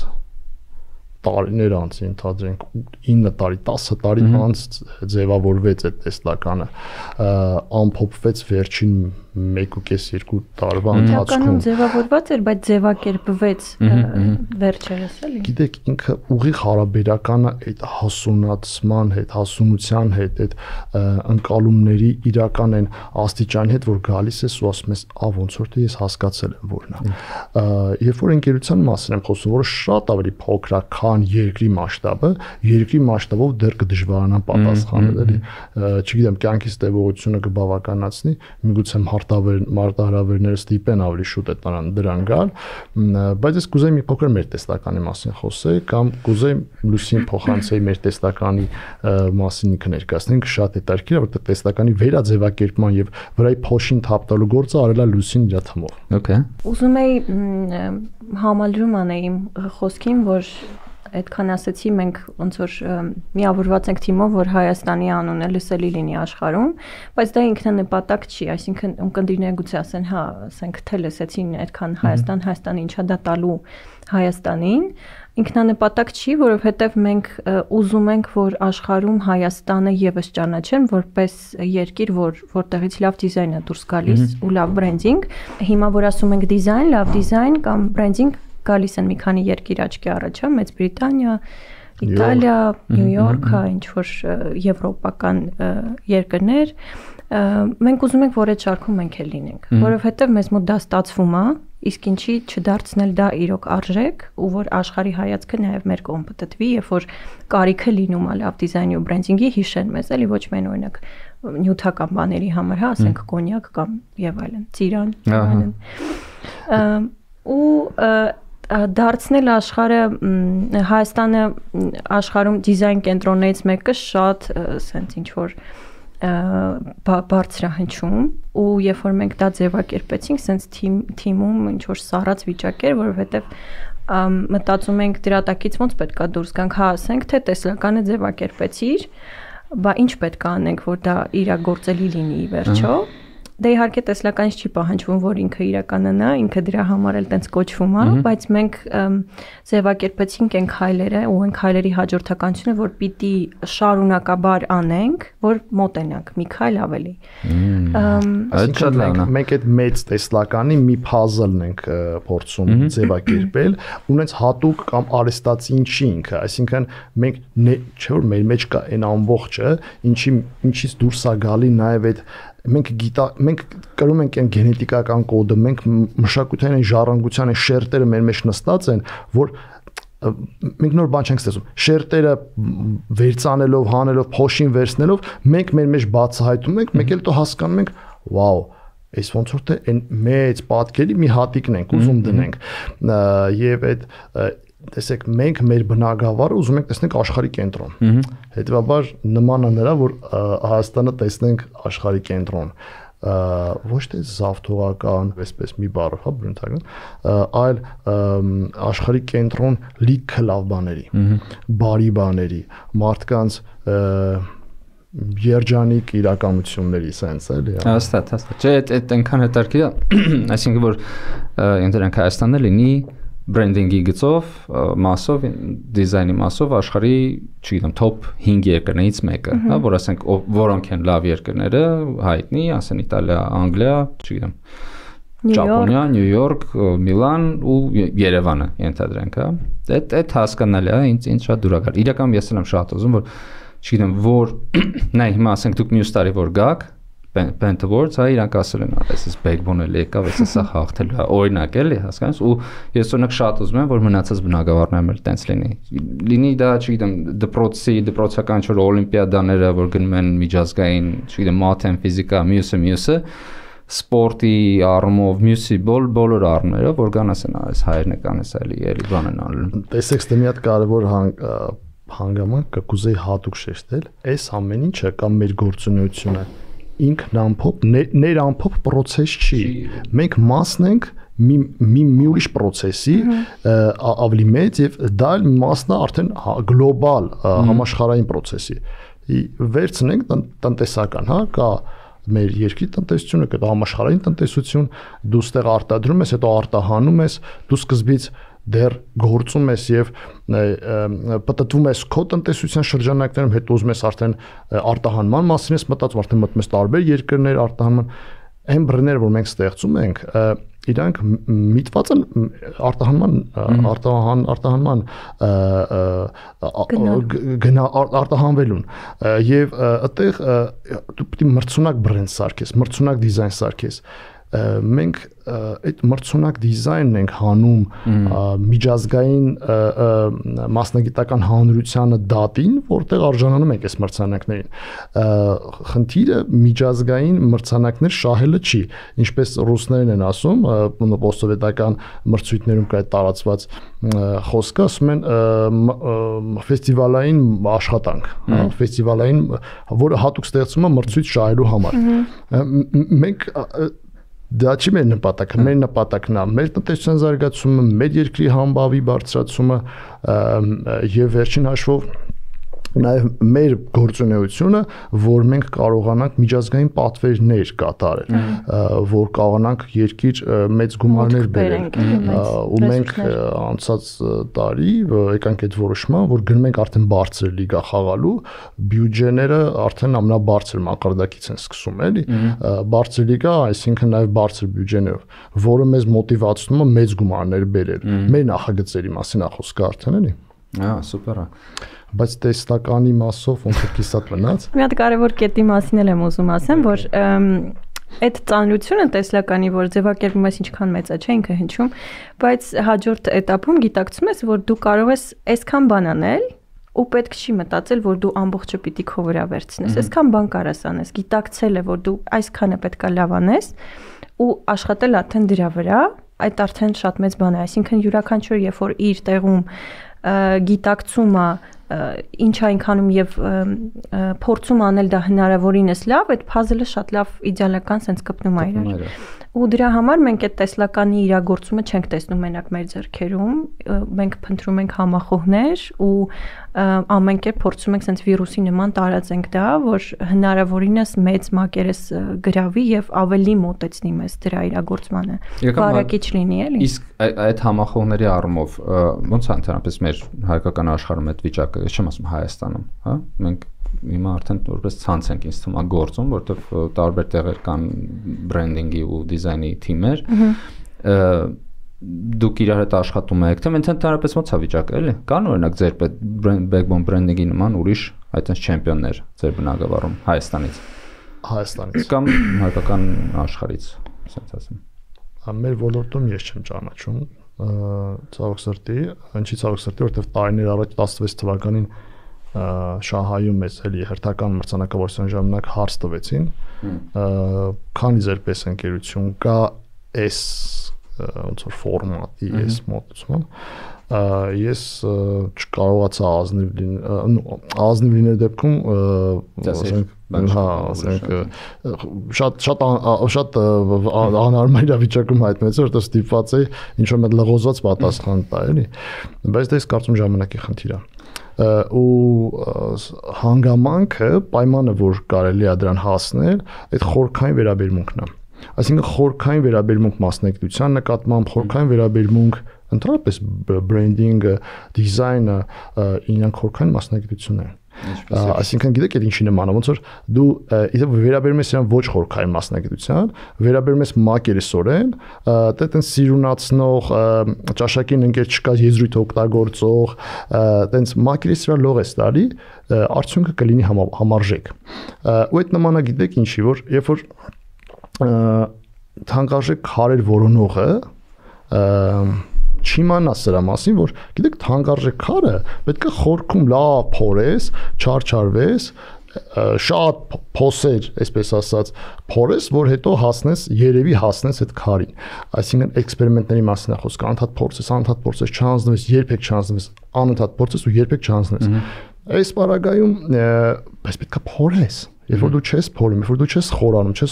տարիներ անց, ընդհանրենք 9 տարի, 10 տարի անց ձևավորվեց այդ տեսլականը, ամփոփվեց վերջին 1.5-2 տարվա ընթացքում։ Ձևավորված էր, բայց ձևակերպվեց վերջերս, էլի։ Գիտեք, ինքը ուղիղ հարաբերականը այդ հասունացման հետ, հասունության հետ, այդ ընկալումների իրական են աստիճանի հետ, որ գալիս ես ու ասում ես, ոնց որ թե ես հասկացել եմ որն է։ Երբ որ ընկերության մասին եմ խոսում, որը շատ ավելի փոքր է, քան երկրի մասշտաբը, երկրի մասշտաբով դեռ կդժվարանա պատասխանել, էլի։ Չգիտեմ, կյանքից տևողությունը կբավականացնի, միգուցե մարտահրավերները ստիպեն ավելի շուտ դրան գալ, բայց ես կուզեի մի փոքր մեր տեսլականի մասին խոսեի կամ կուզեի Լուսին փոխանցեի մեր տեսլականի մասին ինքը ներկայացնենք, շատ հետաքրքիր է, որտեղ տեսլականի վերաձևակերպման եւ վրայի փոշին թափտալու գործը արել է Լուսին իր թմով։ Okay։ Ուզում էի համալրում անեի իմ խոսքին, որ այդքան ասեցի մենք ոնց որ միավորված ենք թիմով, որ Հայաստանի անունը լսելի լինի աշխարհում, բայց դա ինքնանպատակ չի, այսինքն ունկնդիրները գուցե ասեն, հա, ասենք թե լսեցին այդքան Հայաստանը ինչա դա տալու Հայաստանին, ինքնանպատակ չի, որովհետև մենք ուզում ենք, որ աշխարհում Հայաստանը եւս ճանաչեն որպես երկիր, որտեղից լավ դիզայն է դուրս գալիս ու լավ բրենդինգ։ Հիմա որ ասում ենք դիզայն, լավ դիզայն կամ բրենդինգ գալիս են մի քանի երկիր աչքի առաջ, Մեծ Բրիտանիա, Իտալիա, Նյու Յորք, ինչ որ եվրոպական երկրներ, մենք ուզում ենք, որ այդ շարքում մենք էլ լինենք, որովհետև մեզ մոտ դա ստացվում է, իսկ ինչի չդարձնել դա իրոք արժեք, ու որ աշխարհի հայացքը նաև մեր կողմ պատտվի, երբ որ կարիքը լինում է լավ դիզայնի ու բրենդինգի հիշեն մեզ, էլի ոչ միայն օրինակ նյութական բաների համար, հա, ասենք կոնյակ կամ եւ այլն, ծիրան, այլն։ Ու դարձնել աշխարհը Հայաստանը աշխարհում դիզայն կենտրոններից մեկը շատ սենց ինչ որ բարձրահնչում ու երբ որ մենք դա ձևակերպեցինք սենց թիմում ինչ որ սառած վիճակ էր, որովհետև մտածում ենք դրա տակից ոնց պետքա դուրս գանք, հա ասենք թե տեսլականը ձևակերպեցիր, բա ինչ պետք է անենք, որ դա իրագործելի լինի վերջո։ Դե իհարկե տեսլականից չի պահանջվում, որ ինքը իրականանա, ինքը դրա համար էլ տենց կոչվում է, բայց մենք ձևակերպեցինք այն քայլերը ու այն քայլերի հաջորդականությունը, որ պիտի շարունակաբար անենք, որ մոտենանք մի քայլ ավելի։ Այսինքն մենք այդ մեծ տեսլականի մի puzzle-ն ենք փորձում ձևակերպել, ունենց հատուկ կամ արեստացին չի ինքը, այսինքն մենք չէ որ մեր մեջ կա այն ամբողջը, ինչից դուրս է գալի նաև այդ մենք կրում ենք այն գենետիկական կոդը, մենք մշակութային այն ժառանգության այն շերտերը մեր մեջ նստած են, որ մենք նոր բան չենք ստեղծում։ Շերտերը վերցանելով, հանելով, փոշին վերցնելով, մենք մեր մեջ բացահայտում ենք, մեկ էլ դու հասկանում ենք, վաու, այս ոնց որ թե այն մեծ պատկերի մի հատիկն ենք ուզում դնենք։ Եվ այդ տեսեք, մենք մեր բնակավարը ուզում ենք տեսնենք աշխարհի կենտրոն։ Հետևաբար նման է նրա, որ Հայաստանը տեսնենք աշխարհի կենտրոն, ոչ թե զավթողական, այսպես մի բառով, հա, բնութագրական, այլ աշխարհի կենտրոն լիքը լավ բաների, բարի բաների, մարդկանց երջանիկ իրականությունների sense էլի։ Հաստատ։ Չէ, այդ այնքան հետաքրքիր է, այսինքն որ ինտերնետ Հայաստանը լինի բրենդինգի գծով, մասով, դիզայնի մասով աշխարհի, չգիտեմ, top 5 երկրներից մեկը, հա, որ ասենք որոնք են լավ երկրները, հայտնի, ասեն Իտալիա, Անգլիա, չգիտեմ, Ճապոնիա, Նյու Յորք, Միլան ու Երևանը ենթադրենք, հա։ Այդ հասկանալի է, ինձ շատ դուրակար։ Իրականում ես եմ շատ ուզում, որ չգիտեմ, որ նայ հիմա ասենք դուք մյուս տարի որ գաք Pentawords, հա, իրանք ասել են, այսպես backbone-ը եկավ, այսպես սա հաղթելու է, օրինակ էլի, հասկանաս, ու ես օրինակ շատ ուզում եմ, որ մնացած բնակավարներն էլ տենց լինի։ Լինի դա, չգիտեմ, դպրոցական ինչ-որ օլիմպիադաները, որ գնում են միջազգային, չգիտեմ, մաթեմ, ֆիզիկա, մյուսը, սպորտի առումով, մյուսի բոլոր առումներով, որ գան ասեն, այս հայերն է կանես էլի բան են անելու։ Տեսեք, դե մի հատ կարևոր հանգամանք կուզեի հատուկ շեշտել, այս ամեն ինչը կամ մեր գործունեությունը ինքնամփոփ ներամփոփ process չի։ Մենք մասն ենք մի ուրիշ process-ի ավելի մեծ եւ դա մասն է արդեն գլոբալ համաշխարհային process-ի։ Վերցնենք տնտեսական, հա, կա մեր երկրի տնտեսությունը, կա համաշխարհային տնտեսություն, դու ստեղ արտադրում ես, հետո արտահանում ես, դու սկզբից դեռ գործում ես եւ պատտվում ես քո տնտեսության շրջանակներում, հետո ուզում ես արդեն արտահանման մասին ես մտածում, արդեն մտնում ես տարբեր երկրներ արտահանման, այն բրենդները, որ մենք ստեղծում ենք, իրանք միտված են արտահանման արտահանվելուն եւ այդտեղ դու պետք է մրցունակ բրենդ սարքես, մրցունակ դիզայն սարքես։ Մենք այդ մրցունակ դիզայնն ենք հանում միջազգային մասնագիտական հանրությանը դատին, որտեղ արժանանում ենք այս մրցանակներին։ Խնդիրը միջազգային մրցանակներ շահելը չի, ինչպես ռուսներն են ասում, պոստսովետական մրցույթներում կա տարածված խոսքը, ասում են ֆեստիվալային աշխատանք, հա, ֆեստիվալային, որը հատուկ ստեղծվում է մրցույթ շահելու համար։ Մենք դա չի մեր նպատակը, մեր նպատակն է մեր տնտեսության զարգացումը, մեր երկրի համբավի բարձրացումը եւ վերջին հաշվով Նաև մեր գործունեությունը, որ մենք կարողանանք միջազգային պատվերներ կատարել, որ կարողանանք երկիր մեծ գումարներ բերել, ու մենք անցած տարի եկանք այդ որոշման, որ գնում ենք արդեն բարձր լիգա խաղալու, բյուջեները արդեն ամենաբարձր մակարդակից են սկսում, էլի, բարձր լիգա, այսինքն նաև բարձր բյուջեներով, որը մեզ մոտիվացնում է մեծ գումարներ բերել։ Մեր նախագծերի մասին է խոսքը արդեն, էլի։ Սուպեր է։ Բայց տեսլականի մասով ոնց է կիսատ մնաց։ Մի հատ կարևոր կետի մասին եմ ուզում ասեմ, որ այդ ծանրությունը տեսլականի, որ ձևակերպում ես ինչքան մեծ է, չէ, ինքը հնչում, բայց հաջորդ этаպում գիտակցում ես, որ դու կարող ես այսքան բան անել, ու պետք չի մտածել, որ դու ամբողջը պիտի քո վրա վերցնես։ Այսքան բան կարաս անես, գիտակցել է, որ դու այսքանը պետքա լավ անես, ու աշխատել արդեն դրա վրա, այդ արդեն շատ մեծ բան է, այսինքն յուրաքանչյուր երբ որ իր տեղում գիտակցումը ինչ այնքանում եւ փորձում անել դա հնարավորինս լավ, այդ puzzle-ը շատ լավ իդեալական sense կպնում է իրար։ Ու դրա համար մենք այդ տեսլականի իրագործումը չենք տեսնում մենակ մեր ձեռքերում, մենք փնտրում ենք համախոհներ ու ամեն կերպ փորձում ենք sense վիրուսի նման տարածենք դա, որ հնարավորինս մեծ մակերես գրավի եւ ավելի մոտեցնի մեզ դրա իրագործմանը։ Բարակիչ լինի, էլի։ Իսկ այդ համախոհների առումով ոնց է ընդհանրապես մեր հայկական աշխարհում այդ վիճակը, չեմ ասում Հայաստանում, հա? Մենք հիմա արդեն որպես ցանց ենք ինձ թվում գործում, որովհետև տարբեր տեղեր կան բրենդինգի ու դիզայնի թիմեր, դուք իրար հետ աշխատում եք, թե ընդհանրապես ոնց է վիճակը, էլի։ Կան օրինակ ձեր backbone branding-ի նման ուրիշ այդպես չեմպիոններ ձեր բնակավարում Հայաստանից կամ հայկական աշխարհից, ասած ասեմ։ Մեր ոլորտում ես չեմ ճանաչում ցավոք սրտի, ինչի ցավոք սրտի, որովհետև տարիներ առաջ 16 թվականին Շահայում էս էլի հերթական մրցանակավորության ժամանակ հարց տվեցին, քանի ձեր պես ընկերություն կա այս ոնց որ ֆորմատի, այս մոտեցում, ես չկարողացա ազնիվ լինել դեպքում, շատ անհարմար իրավիճակում հայտնվեցի, որտեղ ստիպված էի ինչ-որ մի լղոզված պատասխան տա, էլի, բայց դա ես կարծում ժամանակի խնդիր է։ Ու հանգամանքը, պայմանը, որ կարելի է դրան հասնել, այդ խորքային վերաբերմունքն է։ Այսինքն խորքային վերաբերմունք մասնագիտության նկատմամբ, խորքային վերաբերմունք ընդհանրապես բրենդինգը, դիզայնը, իրանք խորքային մասնագիտություն են։ Այսինքն գիտեք այդ ինչի նման է, ոնց որ դու իդեպ վերաբերում ես իրան ոչ խորքային մասնագիտության, վերաբերում ես մակերեսորեն, դա տենց սիրունացնող, ճաշակին ընկեր չկա եզրույթ օգտագործող, տենց մակերես վրա լող ես տալի, արդյունքը կլինի համարժեք։ Ու այդ նմանը գիտեք ինչի, որ երբ որ թանկարժեք քարեր որոնողը չիմանա սրա մասին, որ գիտեք թանկարժեք քարը պետք է խորքում լավ փորես, չարչարվես, շատ փոսեր, այսպես ասած, փորես, որ հետո երևի հասնես այդ քարին։ Այսինքն էքսպերիմենտների մասին է խոսքը, անընդհատ փորձես, չհանձնվես, երբեք չհանձնվես, անընդհատ փորձես ու երբեք չհանձնվես։ Այս պարագայում բայց պետք է փորես։ Երբ որ դու չես փորում, երբ որ դու չես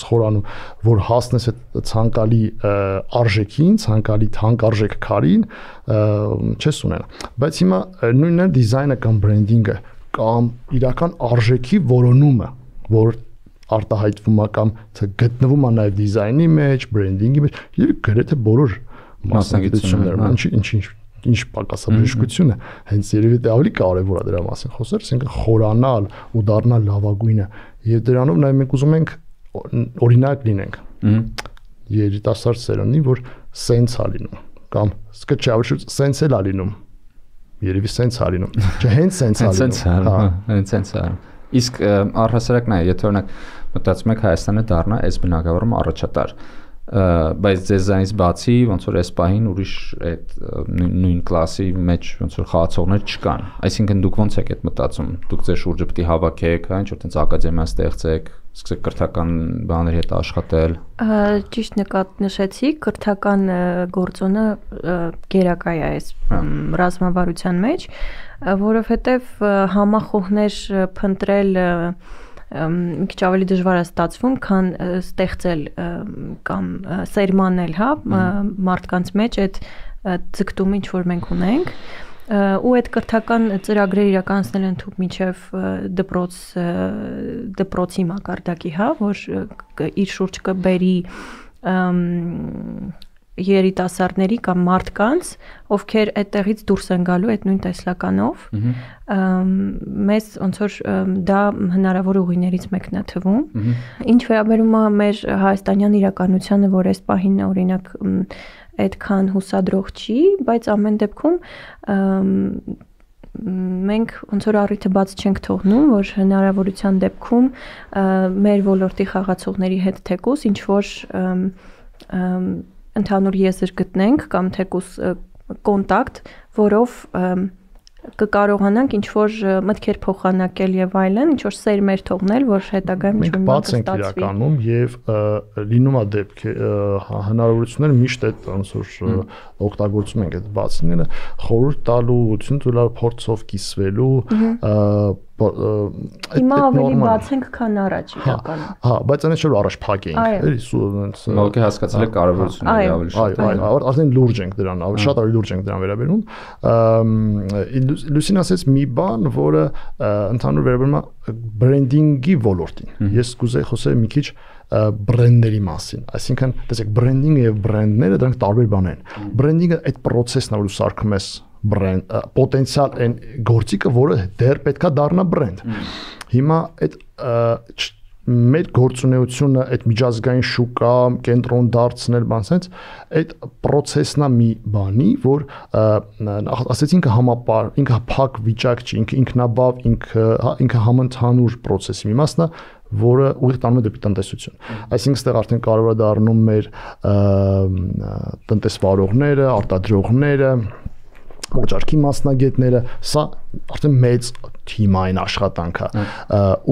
խորանում, որ հասնես այդ ցանկալի արժեքին, ցանկալի թանկարժեք քարին, չես ունենա։ Բայց հիմա նույնն է դիզայնը կամ բրենդինգը կամ իրական արժեքի որոնումը, որ արտահայտվում է կամ գտնվում է նաև դիզայնի մեջ, բրենդինգի մեջ, եւ գրեթե բոլոր մասնագիտություններում, ինչ պակասաբժշկությունը, հենց երևի դա ավելի կարևոր է դրա մասին խոսել, այսինքն խորանալ ու դառնալ լավագույնը, եւ դրանով նաև մենք ուզում ենք օրինակ լինենք երիտասարդ սերունդին, որ սենց է լինում, կամ սկսե չէ, սենց էլ է լինում, երևի սենց է լինում, չէ, հենց սենց է լինում, հենց սենց է։ Իսկ առհասարակ նայ, եթե օրինակ մտածում եք Հայաստանը դառնա այս բնակավարում առաջատար, բայց ձեզանից բացի ոնց որ այս պահին ուրիշ այդ նույն կլասի մեջ ոնց որ խաղացողներ չկան, այսինքն դուք ոնց եք այդ մտածում, դուք ձեր շուրջը պետք է հավաքեք, հա, ինչ որ տենց ակադեմիա ստեղծեք, սկսեք կրթական բաների հետ աշխատել։ Ճիշտ նշեցի, կրթական գործոնը գերակա է այս ռազմավարության մեջ, որովհետև համախոհներ փնտրել մի քիչ ավելի դժվար է ստացվում, քան ստեղծել կամ սերմանել, հա, մարդկանց մեջ այդ ձգտումը, ինչ որ մենք ունենք, ու այդ կրթական ծրագրերը իրականացնել են թուք միջև դպրոցի մակարդակի, հա, որ իր շուրջ կբերի երիտասարդների կամ մարդկանց, ովքեր այդտեղից դուրս են գալու այդ նույն տեսլականով, մեզ ոնց որ դա հնարավոր ուղիներից մեկն է թվում։ Ինչ վերաբերում է մեր հայաստանյան իրականությանը, որ այս պահին օրինակ այդքան հուսադրող չի, բայց ամեն դեպքում մենք ոնց որ առիթը բաց չենք թողնում, որ հնարավորության դեպքում մեր ոլորտի խաղացողների հետ թեկուզ ինչ որ ընդհանուր եզր գտնենք կամ թեկուզ կոնտակտ, որով կկարողանանք ինչ որ մտքեր փոխանակել եւ այլն, ինչ որ սերմեր թողնել, որ հետագայում ինչ որ բաց ենք իրականում եւ լինում է դեպք հնարավորություններ միշտ այդ ոնց որ օգտագործում ենք այդ բացները, խորհուրդ տալու, ցույց փորձով կիսվելու, Հիմա ավելի բաց ենք, քան առաջ իրականում։ Հա, բայց այնպես չէ որ առաջ փակ էինք, էլի Ոգի հասկացել եք կարևորությունը ավելի շատ։ Այո, արդեն լուրջ ենք դրան, շատ ավելի լուրջ ենք դրան վերաբերում։ Լուսին ասեց մի բան, որը ընդհանուր վերաբերում է բրենդինգի ոլորտին։ Ես կուզեի խոսել մի քիչ բրենդերի մասին, այսինքն, տեսեք, բրենդինգը եւ բրենդները դրանք տարբեր բաներ են։ Բրենդինգը այդ process-ն է, որ սարքում ես բրենդ, պոտենցիալ այն գործիքը, որը դեռ պետքա դառնա բրենդ։ Հիմա այդ մեր գործունեությունը, այդ միջազգային շուկա, կենտրոն դարձնել, բան sense, այդ process-ն է մի բանի, որ ասեցին ինքը համապար, ինքը փակ վիճակ չի, ինքը ինքնաբավ, ինքը համընդհանուր process-ի մի մասն է, որը ուղիղ տանում է դեպի տնտեսություն։ Այսինքն այստեղ արդեն կարող է դառնում մեր տնտեսվարողները, արտադրողները, օջարքի մասնագետները, սա արդեն մեծ թիմային աշխատանք է։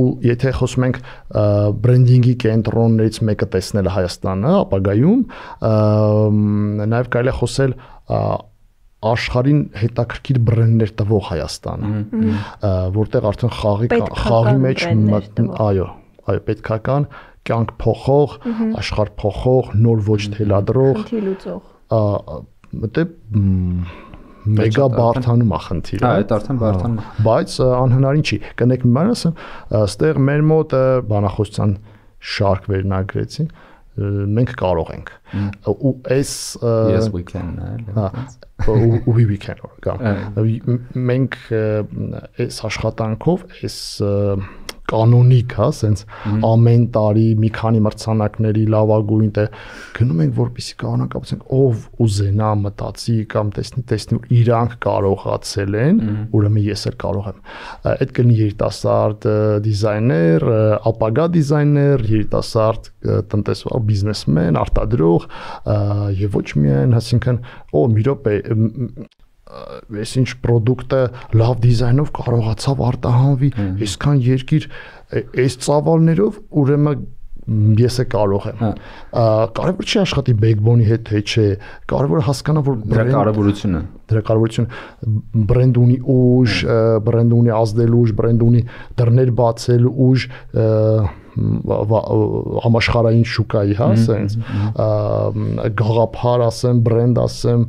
Ու եթե խոսում ենք բրենդինգի կենտրոններից մեկը տեսնել Հայաստանը, ապագայում նաև կարելի է խոսել աշխարհին հետաքրքիր բրենդներ տվող Հայաստանը, որտեղ արդեն խաղի մեջ այո, պետքական կյանք փոխող, աշխարհ փոխող, նոր ոճ թելադրող, մտե մեգա բարթանում է խնդիրը։ Հա, այդ արդեն բարթանում է։ Բայց անհնարին չի։ Կնեք մի բան ասեմ, այստեղ մեր մոտ բանախոսության շարք վերնագրեցին, մենք կարող ենք։ Ու այս Yes we can, հա, we can։ Մենք այս աշխատանքով, այս կանոնիկ, հա, sense ամեն տարի մի քանի մրցանակների լավագույն գնում ենք, որպեսզի կարողանանք ապացենք ով ուզենա մտածի կամ տեսնի իրանք կարողացել են, ուրեմն ես էլ կարող եմ։ Այդ կլինի երիտասարդ դիզայներ, ապագա դիզայներ, երիտասարդ տնտեսվար, բիզնեսմեն, արտադրող եւ ոչ միայն, այսինքն, մի րոպե այսինչ պրոդուկտը լավ դիզայնով կարողացավ արտահանվի, այսքան երկիր այս ծավալներով, ուրեմն ես է կարող եմ։ Կարևոր չի աշխատի backbone-ի հետ, թե չէ, կարևոր է հասկանալ, որ դրա կարևորությունը բրենդ ունի ուժ, բրենդ ունի ազդելու ուժ, բրենդ ունի դռներ բացելու ուժ, համաշխարհային շուկայի, հա, sense գաղափար ասեմ, բրենդ ասեմ,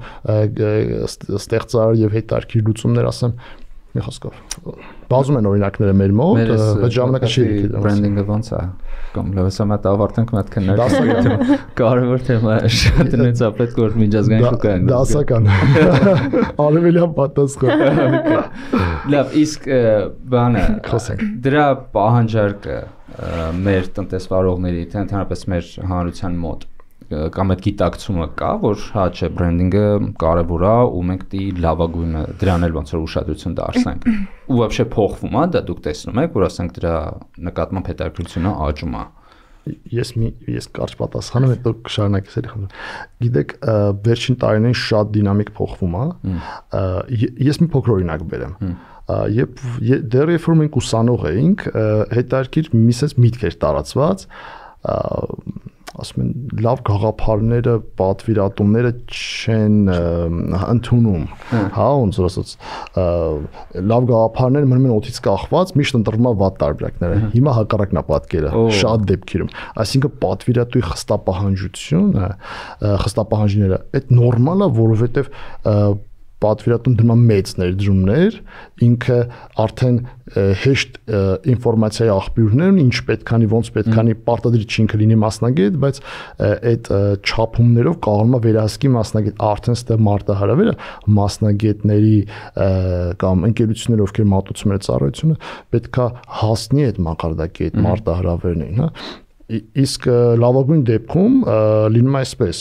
ստեղծար եւ հետարքիր լուծումներ ասեմ, մի խոսքով բազում են օրինակները մեր մոտ, բայց ժամանակը չի եկել։ Բրենդինգը ոնց է կամ լավասամատ ավարտենք մատ քննարկել։ Կարևոր թեմա է, շատ նույնիսկ որ միջազգային շուկան։ Դասական։ Արևելյան պատասխան։ Լավ, իսկ բանը դրա պահանջարկը մեր տնտեսվարողների, թե ընդհանրապես մեր հանրության մոտ կամ այդ գիտակցումը կա, որ հա չէ բրենդինգը կարևոր է ու մենք դի լավագույնը դրան էլ ոնց որ ուշադրություն դարձնենք։ Ու вообще փոխվում է, դա դուք տեսնում եք, որ ասենք դրա նկատմամբ հետաքրքրությունը աճում է։ Ես կարճ պատասխանում եմ, դուք շարունակեք էլի խնդրում։ Գիտեք, վերջին տարիներին շատ դինամիկ փոխվում է։ Ես մի փոքր օրինակ բերեմ։ Դեռ երբ որ մենք ուսանող էինք, հետաքրքիր միսես միտք էր տարածված, ասում են լավ գաղափարները, պատվիրատումները չեն ընդունում, հա, ոնց որ ասած, լավ գաղափարները մնում են օդից կախված, միշտ ընտրվում է վատ տարբերակները։ Հիմա հակառակն է պատկերը, շատ դեպքերում։ Այսինքն պատվիրատուի խստապահանջությունը, խստապահանջները, այդ նորմալ է, որովհետև պատվիրատուն դնում մեծ ներդրումներ, ինքը արդեն հեշտ ինֆորմացիայի աղբյուրներ ունի, ինչ պետքանի, ոնց պետքանի, պարտադիր չի ինքը լինի մասնագետ, բայց այդ չափումներով կարողանում է վերահսկի մասնագետ, արդեն ստեղ մարտահրավերը մասնագետների կամ ընկերությունների, ովքեր մատուցում են ծառայությունը, պետքա հասնի այդ մակարդակի, այդ մարտահրավերներին, հա։ Իսկ լավագույն դեպքում լինում է այսպես,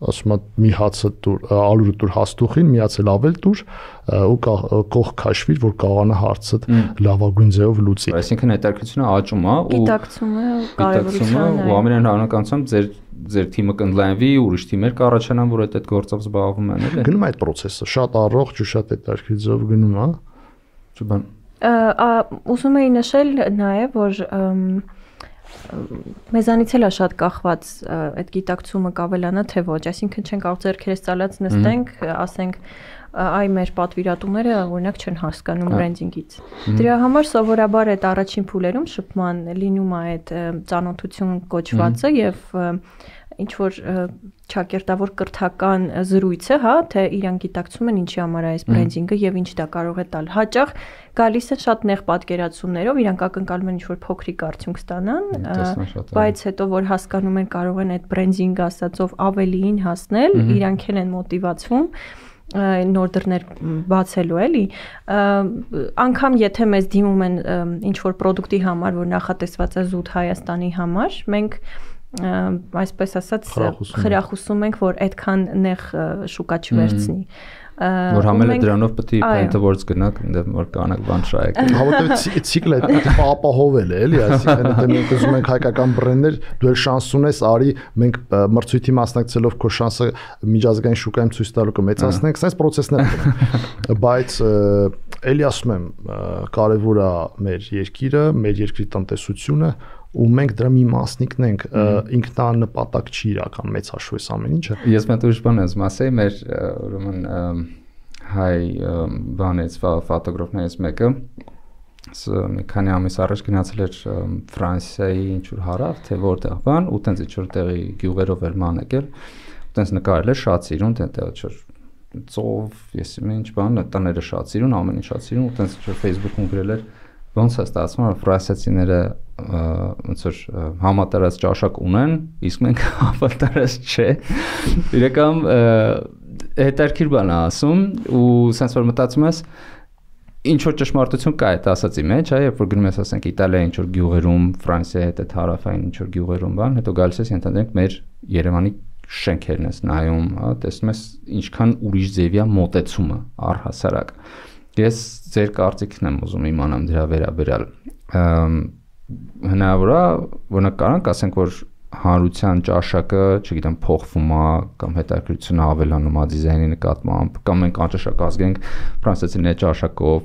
ասում եմ մի հացը դուր, ալուրը դուր հաստուխին, միացել ավել դուր ու կող քաշվիր, որ կարողանա հարցը լավագույն ձևով լուծի։ Այսինքն հետաքրքրությունը աճում է ու գիտակցումը կարևորությունը ու ամենայն հավանականությամբ ձեր թիմը կընդլայնվի, ուրիշ թիմեր կառաջանան, որ այդ գործով զբաղվում են, էլի։ Գնում է այդ process-ը, շատ առողջ ու շատ հետաքրքիր ձևով գնում է։ Ճուբան։ Ուզում էի նշել նաև, որ մեզանից էլ է շատ կախված այդ գիտակցումը կավելանա թե ոչ, այսինքն չենք կարող ձեռքերս ծալած նստենք, ասենք այ մեր պատվիրատուները օրինակ չեն հասկանում բրենդինգից։ Դրա համար սովորաբար այդ առաջին փուլերում շփման լինում է այդ ծանոթություն կոչվածը եւ ինչ որ ճակերտավոր կրթական զրույցը, հա, թե իրան գիտակցում են ինչի համար է այս բրենդինգը եւ ինչ դա կարող է տալ։ Հաճախ գալիս են շատ նեղ պատկերացումներով, իրանք ակնկալում են ինչ որ փոքրիկ արդյունք ստանան, բայց հետո որ հասկանում են կարող են այդ բրենդինգը ասածով ավելիին հասնել, իրանք են մոտիվացվում նոր դռներ բացելու էլի, անգամ եթե մեզ դիմում են ինչ որ product-ի համար, որ նախատեսված է զուտ Հայաստանի համար, մենք այսպես ասած խրախուսում ենք, որ այդքան նեղ շուկա չվերցնի։ Որ համելը դրանով պետք է paint-ավորց գնաք, որ կանակ բան շայեք։ Հավատացի ցիկլը ապահովել է, էլի, այսինքն եթե մենք ուզում ենք հայկական բրենդներ, դու էլ շանս ունես, արի մենք մրցույթի մասնակցելով քո շանսը միջազգային շուկայում ցույց տալու կմեծացնենք, այս process-ներ են։ Բայց էլի ասում եմ, կարևոր է մեր երկիրը, մեր երկրի տնտեսությունը ու մենք դրա մի մասնիկն ենք, ինքնանպատակ չի իրական մեծ հաշվով այս ամեն ինչը։ Ես մենտ ուրիշ բան եմ ասեի, մեր ուրեմն հայ բանից ֆոտոգրաֆներից մեկը մի քանի ամիս առաջ գնացել էր Ֆրանսիայի ինչ որ հարավ, թե որտեղ բան, ու տենց ինչ որ տեղի գյուղերով էր ման եկել, ու տենց նկարել էր շատ սիրուն, տենց ինչ որ ծով, ես ինչ բան, տները շատ սիրուն, ամեն ինչ շատ սիրուն, ու տենց ինչ որ Facebook-ում գրել էր ոնց է ստացվում, որ ֆրանսիացիները ոնց որ համատարած ճաշակ ունեն, իսկ մենք համատարած չէ։ Իրական հետաքրքիր բան է ասում ու sense որ մտածում ես ինչ որ ճշմարտություն կա այդ ասածի մեջ, երբ որ գնում ես ասենք Իտալիայի ինչ որ գյուղերում, Ֆրանսիայի հետ հարավային ինչ որ գյուղերում բան, հետո գալիս ես ընդհանրենք մեր Երևանի շենքերն ես նայում, հա, տեսնում ես ինչքան ուրիշ ձևի է մոտեցումը առհասարակ։ Ես ձեր կարծիքն եմ ուզում իմանամ դրա վերաբերյալ։ Հնարավոր է, օրինակ կարանք ասենք, որ հանրության ճաշակը, չգիտեմ, փոխվում է կամ հետաքրքրությունը ավելանում է դիզայնի նկատմամբ, կամ մենք անճաշակ ազգենք ֆրանսիացիների ճաշակով։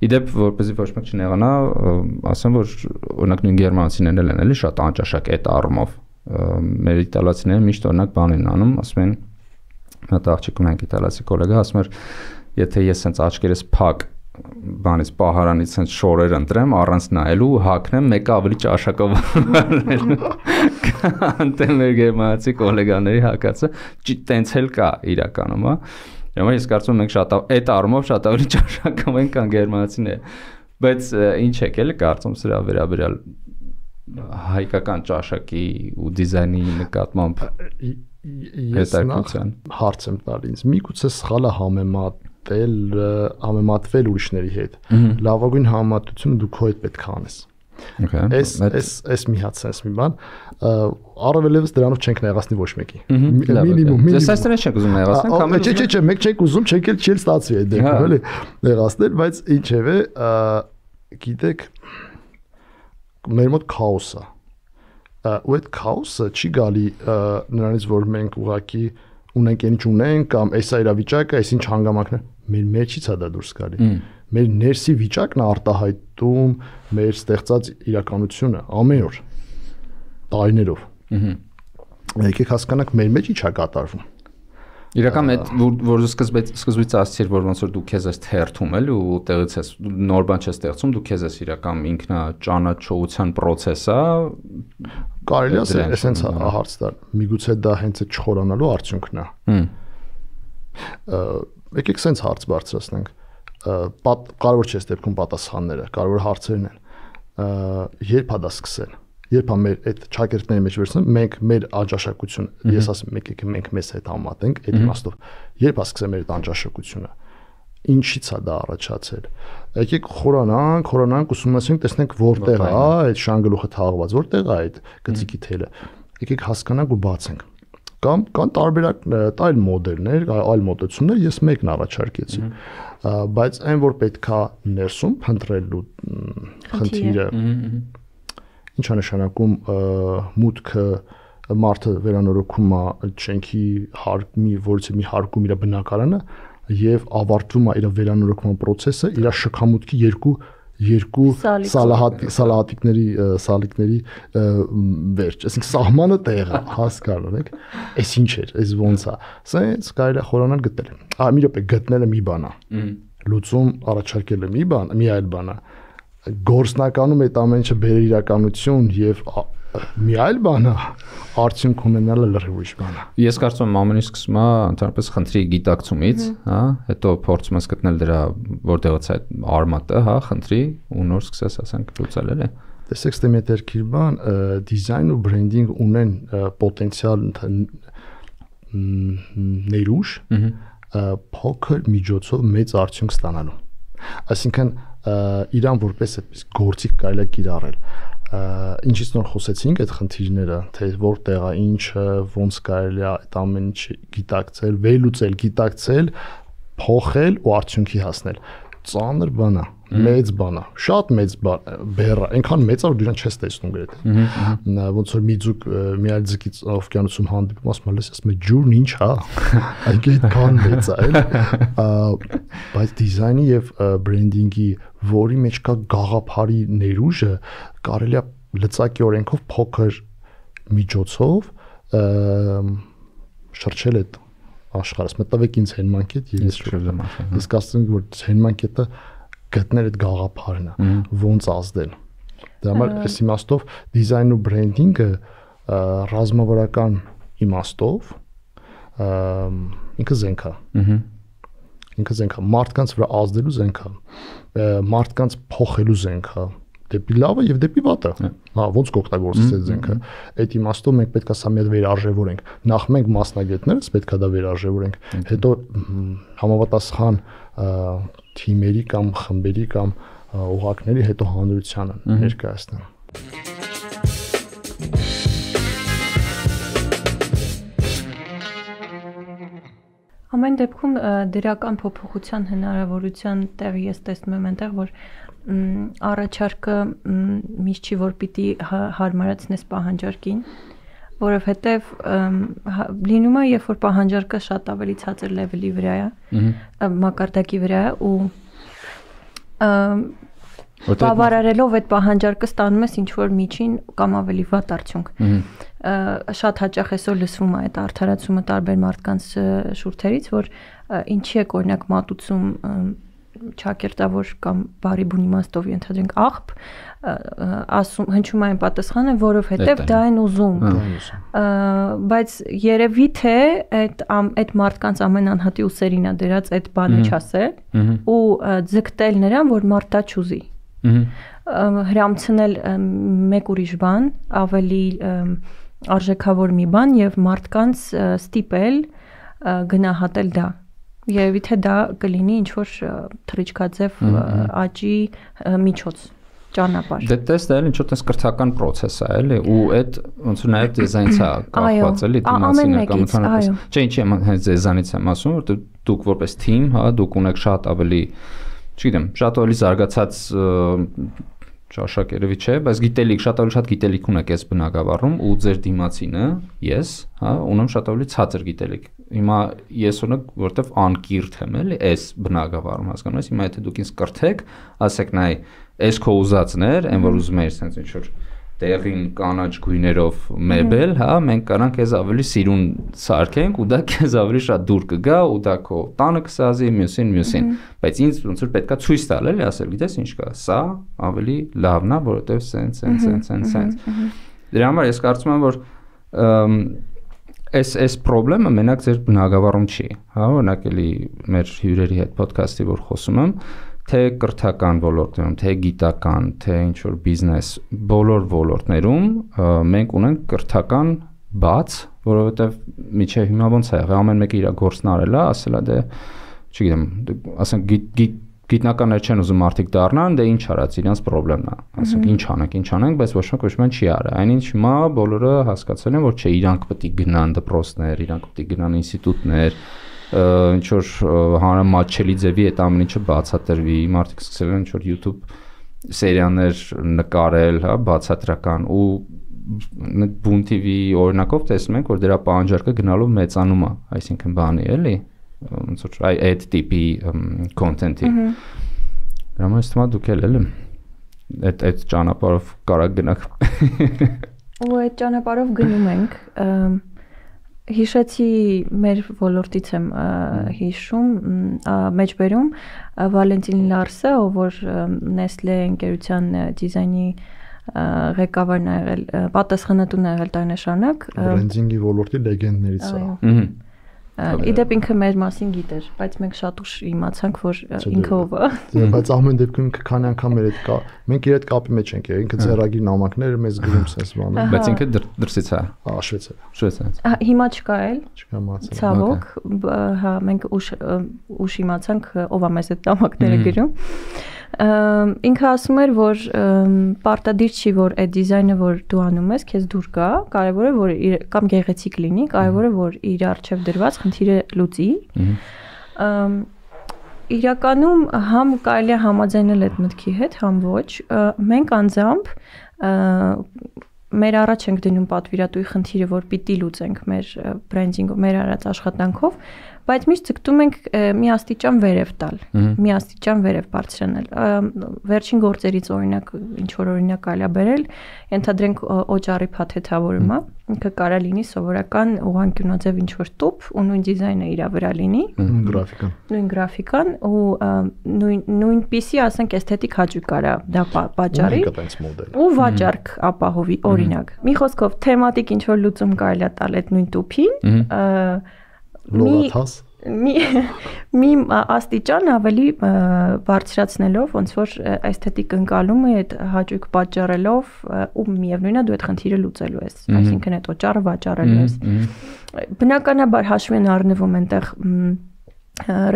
Իդեպ, որպեսզի ոչ մեկ չնեղանա, ասեմ, որ օրինակ նույն գերմանացիներն են էլի շատ անճաշակ այդ առումով։ Մեր իտալացիները միշտ օրինակ բան են անում, ասում են, հատ աղջիկ ունենք իտալացի գոլեգա, ասում էր եթե ես sense աչքերս փակ բանից պահարանից sense շորեր ընտրեմ առանց նայելու հակնեմ մեկը ավելի ճաշակով առնելու անտեմ մեր գերմանացի գոլեգաների հակացը տենց էլ կա իրականում հա Հիմա ես կարծում եմ մենք շատ այդ առումով շատ ավելի ճաշակում ենք կան գերմանացիները բայց ինչ եք էլի կարծում սրա վերաբերյալ հայկական ճաշակի ու դիզայնի նկատմամբ ես հարց եմ տալի ինձ միգուցե սխալ է համեմատվել ուրիշների հետ լավագույն համեմատությունը դու քո հետ պետք է անես Այս մի հատ sense մի բան առավելևս դրանով չենք նեղացնի ոչ մեկի մինիմում Ես այսպես չենք ուզում նեղացնել Չէ, մեկ չենք ուզում, չենք էլ չի ստացվի այդ դեպքում, էլի նեղացնել, բայց ինչևէ գիտեք մեր մոտ քաոս է ու այդ քաոսը չի գալի նրանից որ մենք ուղակի ունենք ինչ ունենք կամ էսա իրավիճակը, այս ինչ հանգամանքներ մեր մեջից է դա դուրս գալի մեր ներսի վիճակն է արտահայտում մեր ստեղծած իրականությունը ամեն օր տարիներով եկեք հասկանանք մեր մեջ ինչ է կատարվում Իրական այդ որ սկզբից ասացիր որ ոնց որ դու քեզ ես թերթում էլ ու տեղից ես նոր բան չես ստեղծում դու քեզ ես իրական ինքնա ճանաչողության process է կարելի է էսենց հարց տալ միգուցե դա հենց այդ չխորանալու արդյունքն է եկեք sense հարց բարձրացնենք։ Կարևոր չէ դեպքում պատասխանները, կարևոր հարցերն են։ Երբ է դա սկսել։ Երբ է մեր այդ ճակերտների մեջ վերցնում, մենք մեր անճաշակությունը, ես ասում եկեք մենք մեզ հետ համատենք այդ իմաստով։ Երբ է սկսել մեր այդ անճաշակությունը։ Ինչից է դա առաջացել։ Եկեք խորանանք, ուսումնասիրենք, տեսնենք որտեղ է այդ շանգլուխը թաղված, որտեղ է այդ գծիկի թելը։ Եկեք հասկանանք ու բացենք։ Կամ կան տարբերակ այլ մոդելներ, այլ մոտեցումներ, ես մեկն առաջարկեցի։ Բայց այն որ պետքա ներսում փնտրելու խնդիրը ինչ է նշանակում մուտքը մարդը վերանորոգում է շենքի հարկի, որից մի հարկում իր բնակարանը եւ ավարտվում է իր վերանորոգման process-ը իր շքամուտքի երկու սալահատիկների վերջ, այսինքն սահմանը տեղը հասկանու եք, այս ինչ էր, այս ոնց է, սենց կարելի է խորանալ գտել։ Մի րոպե գտնելը մի բան է, լուծում առաջարկելը մի այլ բան է, գործնականում այդ ամեն ինչը բերել իրականություն եւ մի այլ բան է, արդյունք ունենալը լրիվ ուրիշ բան է։ Ես կարծում եմ ամեն ինչ սկսում է ընդհանրապես խնդրի գիտակցումից, հա, հետո փորձում ես գտնել դրա որտեղից է այդ արմատը, հա, խնդրի ու նոր սկսես ասենք լուծել էլի։ Տեսեք, ստե մետերքիր բան, դիզայն ու բրենդինգ ունեն պոտենցիալ ներուժ, փոքր միջոցով մեծ արդյունք ստանալու։ Այսինքն իրան որպես այդպես գործիք կարելի է կիրառել։ Ինչից նոր խոսեցինք այդ խնդիրները, թե որտեղ է, ինչը, ոնց կարելի է այդ ամեն ինչը գիտակցել, վերլուծել, գիտակցել, փոխել ու արդյունքի հասնել։ Ծանր բան է, մեծ բան է, շատ մեծ բեռ է, այնքան մեծ է, որ դու իրան չես տեսնում գրեթե։ Ոնց որ մի ձուկ մի այլ ձկից օվկիանոսում հանդիպում, ասում ես, ասում է ջուրն ինչ է, այնքան մեծ է, էլի։ Բայց դիզայնի եւ բրենդինգի, որի մեջ կա գաղափարի ներուժը, կարելի է լծակի օրենքով փոքր միջոցով շրջել այդ աշխարհս մտավեք ինձ հենմանկետ եւ ես կասեմ որ հենմանկետը գտնել այդ գաղափարն է ոնց ազդել դա համար այս իմաստով դիզայն ու բրենդինգը ռազմավարական իմաստով ինքը զենք է մարդկանց վրա ազդելու զենք է մարդկանց փոխելու զենք է դեպի լավը եւ դեպի վատը։ Հա, ոնց կօգտագործես այդ զենքը։ Այդ իմաստով մենք պետք է սա մի հատ վերարժևորենք։ Նախ մենք մասնագետներս պետք է դա վերարժևորենք, հետո համապատասխան թիմերի կամ խմբերի կամ ուղղակների հետո հանրությանը ներկայացնեն։ Ամեն դեպքում դրական փոփոխության հնարավորության տեղի ես տեսնում եմ այնտեղ, որ առաջարկը միշտ չի որ պիտի հարմարացնես պահանջարկին, որովհետև լինում է, երբ որ պահանջարկը շատ ավելի ցածր լեվելի վրա է, մակարդակի վրա է ու բավարարելով այդ պահանջարկը ստանում ես ինչ-որ միջին կամ ավելի վատ արդյունք։ Շատ հաճախ այսօր լսվում է այդ արդարացումը տարբեր մարդկանց շուրթերից, որ ինչի է օրինակ մատուցում ճակերտավոր կամ բարի բուն իմաստով ենթադրենք աղբ, ասում հնչում այն պատասխանը, որովհետև դա են ուզում։ Բայց երևի թե այդ մարդկանց ամեն անհատի ուսերին է դրած այդ բանը չասել ու ձգտել նրան, որ մարդ դա չուզի։ Հրամցնել մեկ ուրիշ բան, ավելի արժեքավոր մի բան եւ մարդկանց ստիպել գնահատել դա։ Երևի թե դա կլինի ինչ-որ թռիչքաձև աճի միջոց ճանապարհ։ Դե տեսա էլ ինչ-որ տես կրթական process է, էլի, ու այդ ոնց որ նաև դիզայնից է կապված, էլի, դիմացինը կամ ընդհանրապես։ Չէ, ինչի եմ հենց դիզայնից եմ ասում, որ դուք որպես թիմ, հա, դուք ունեք շատ ավելի, չգիտեմ, շատ ավելի զարգացած ճաշակ երևի չէ, բայց գիտելիք, շատ ավելի շատ գիտելիք ունեք այս բնակավարում ու ձեր դիմացինը, ես, հա, ունեմ շատ ավելի ցածր գիտելիք։ Հիմա ես ունեմ, որտեվ անկիրթ եմ, էլի, այս բնակավարում, հասկանում ես, հիմա եթե դուք ինձ կրթեք, ասեք նայ, այս քո ուզածներ, այն որ ուզում ես sense ինչ որ տեղին կանաչ գույներով մեբել, հա, մենք կարանք քեզ ավելի սիրուն սարքենք ու դա քեզ ավելի շատ դուր կգա ու դա քո տանը կսազի մյուսին, բայց ինձ ոնց որ պետքա ցույց տալ, էլի, ասել, գիտես ինչ կա, սա ավելի լավն է, որովհետև sense։ Դրա համար ես կարծում եմ, որ Այս խնդրը մենակ ձեր բնագավառում չի, հա, օրինակ էլի մեր հյուրերի հետ ոդքասթի որ խոսում եմ, թե կրթական ոլորտներում, թե գիտական, թե ինչ որ բիզնես, բոլոր ոլորտներում մենք ունենք կրթական բաց, որովհետև միջև հիմա ոնց է եղել, ամեն մեկը իր գործն արել է, ասել է դե, չգիտեմ, ասենք գիտնականներ չեն ուզում մարդիկ դառնան, դե ինչ արած, իրանց խնդրեմն է, ասենք ինչ անենք, բայց ոչ ոք չի արել։ Այնինչ հիմա բոլորը հասկացել են, որ չէ, իրանք պետք է գնան դպրոցներ, իրանք պետք է գնան ինստիտուտներ, ինչ որ հանրամատչելի ձևի այդ ամեն ինչը բացատրվի, մարդիկ սկսել են ինչ որ YouTube սերիաներ նկարել, հա, բացատրական ու Boom TV օրինակով տեսնում ենք, որ դրա պահանջարկը գնալով մեծանում է, այսինքն բանի էլի, ոնց որ այդ տիպի կոնտենտի։ Դրա համար թվում է դուք էլ այդ ճանապարհով կարա գնաք։ Ու այդ ճանապարհով գնում ենք։ Հիշեցի մեր ոլորտից եմ հիշում, մեջբերում Վալենտին Լարսը, ով որ Nestle ընկերության դիզայնի ղեկավարն է եղել, պատասխանատուն է եղել տարեշարունակ։ Բրենդինգի ոլորտի լեգենդներից է։ Իդեպ ինքը մեր մասին գիտեր, բայց մենք շատ ուշ իմացանք, որ ինքը ով է։ Բայց ամեն դեպքում քանի անգամ մենք իր հետ կապի մեջ ենք եղել, ինքը ձեռագիր նամակները մեզ գրում սենց բանը։ Բայց ինքը դրսից է։ Շվեյցարիա։ Հիմա չկա էլ։ Չկա մացա։ Ցավոք, հա, մենք ուշ իմացանք ով է մեզ այդ նամակները գրում։ Ինքը ասում էր, որ պարտադիր չի, որ այդ դիզայնը, որ դու անում ես, քեզ դուր գա, կարևոր է, որ կամ գեղեցիկ լինի, կարևոր է, որ իր առջև դրված խնդիրը լուծի։ Իրականում համ կարելի է համաձայնել այդ մտքի հետ, համ ոչ։ Մենք անձամբ մեր առաջ ենք դնում պատվիրատուի խնդիրը, որ պիտի լուծենք մեր բրենդինգով, մեր արած աշխատանքով, բայց միշտ ցկտում ենք մի աստիճան վերև տալ, մի աստիճան վերև բարձրանալ։ Վերջին գործերից օրինակ, ինչ որ օրինակ կարելի է բերել, ենթադրենք օճառի փաթեթավորումը, ինքը կարա լինի սովորական ուղղանկյունաձև ինչ որ տուփ ու նույն դիզայնը իր վրա լինի, նույն գրաֆիկան ու նույնպիսի, ասենք, էսթետիկ հաճույք կարա դա պատճառի ու վաճառք ապահովի, օրինակ։ Մի խոսքով թեմատիկ ինչ որ լուծում կարելի է տալ այդ նույն տուփին, մի աստիճան ավելի բարձրացնելով, ոնց որ էսթետիկ ընկալումը այդ հաճույք պատճառելով ու միևնույնն է դու այդ խնդիրը լուծելու ես, այսինքն այդ օճառը վաճառելու ես։ Բնականաբար հաշվի են առնվում այնտեղ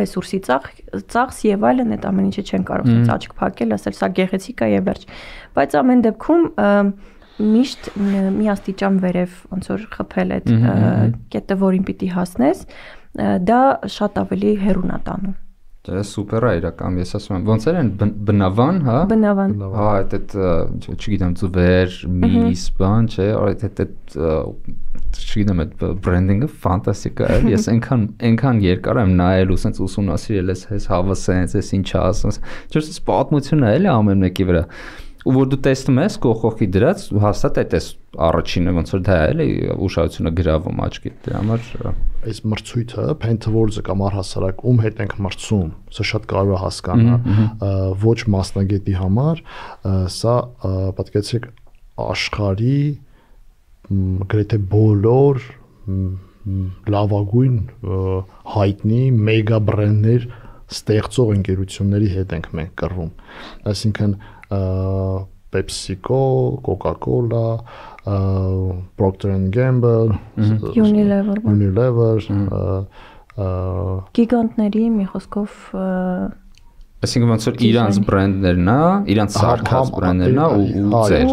ռեսուրսի ծախս եւ այլն, այդ ամեն ինչը չեն կարող ցած աչք փակել, ասել սա գեղեցիկ է եւ վերջ։ Բայց ամեն դեպքում միշտ մի աստիճան վերև ոնց որ խփել այդ կետը, որին պիտի հասնես, դա շատ ավելի հեռուն է տանում։ Դա սուպեր է իրական, ես ասում եմ, ոնց են բնավան, հա։ Բնավան։ Հա, այդ չգիտեմ, ծուվեր, միս, բան, չէ, այդ չգիտեմ, այդ բրենդինգը ֆանտաստիկ է, ես այնքան երկար եմ նայել ու սենց ուսումնասիրել ես հավը սենց, ես ինչ ասում, չէ՞, սենց պատմություն է էլի ամեն մեկի վրա։ Ու որ դու տեսնում ես կողքի դրած, հաստատ այդ էս առաջինը ոնց որ դա է էլի ուշադրությունը գրավում աչքի, դրա համար այս մրցույթը Paintworld-ը կամ առհասարակ ում հետ ենք մրցում, սա շատ կարևոր է հասկանալ, ոչ մասնագետի համար, սա պատկերացրեք աշխարհի գրեթե բոլոր լավագույն հայտնի մեգա բրենդներ ստեղծող ընկերությունների հետ ենք մենք կռվում, այսինքն PepsiCo, Coca-Cola, Procter & Gamble, Unilever, գիգանտների մի խոսքով այսինքն ոնց որ իրանց բրենդներն է, իրանց սարքած բրենդներն է ու ձեր,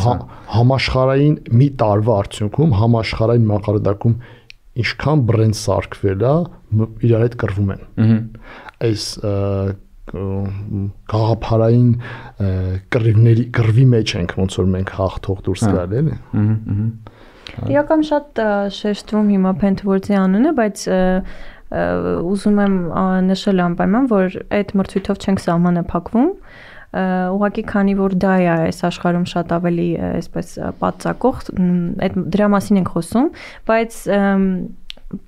հա, համաշխարհային մի տարվա արդյունքում համաշխարհային մակարդակում ինչքան բրենդ սարքվել է, իրար հետ կռվում են։ Այս գաղափարային կռվի մեջ ենք, ոնց որ մենք հաղթող դուրս գալ էլի։ Իրական շատ շեշտվում հիմա Paintworld-ի անունը, բայց ուզում եմ նշել անպայման, որ այդ մրցույթով չենք սահմանափակվում, ուղղակի քանի որ դա է այս աշխարհում շատ ավելի այսպես պատծակող, այդ դրա մասին ենք խոսում, բայց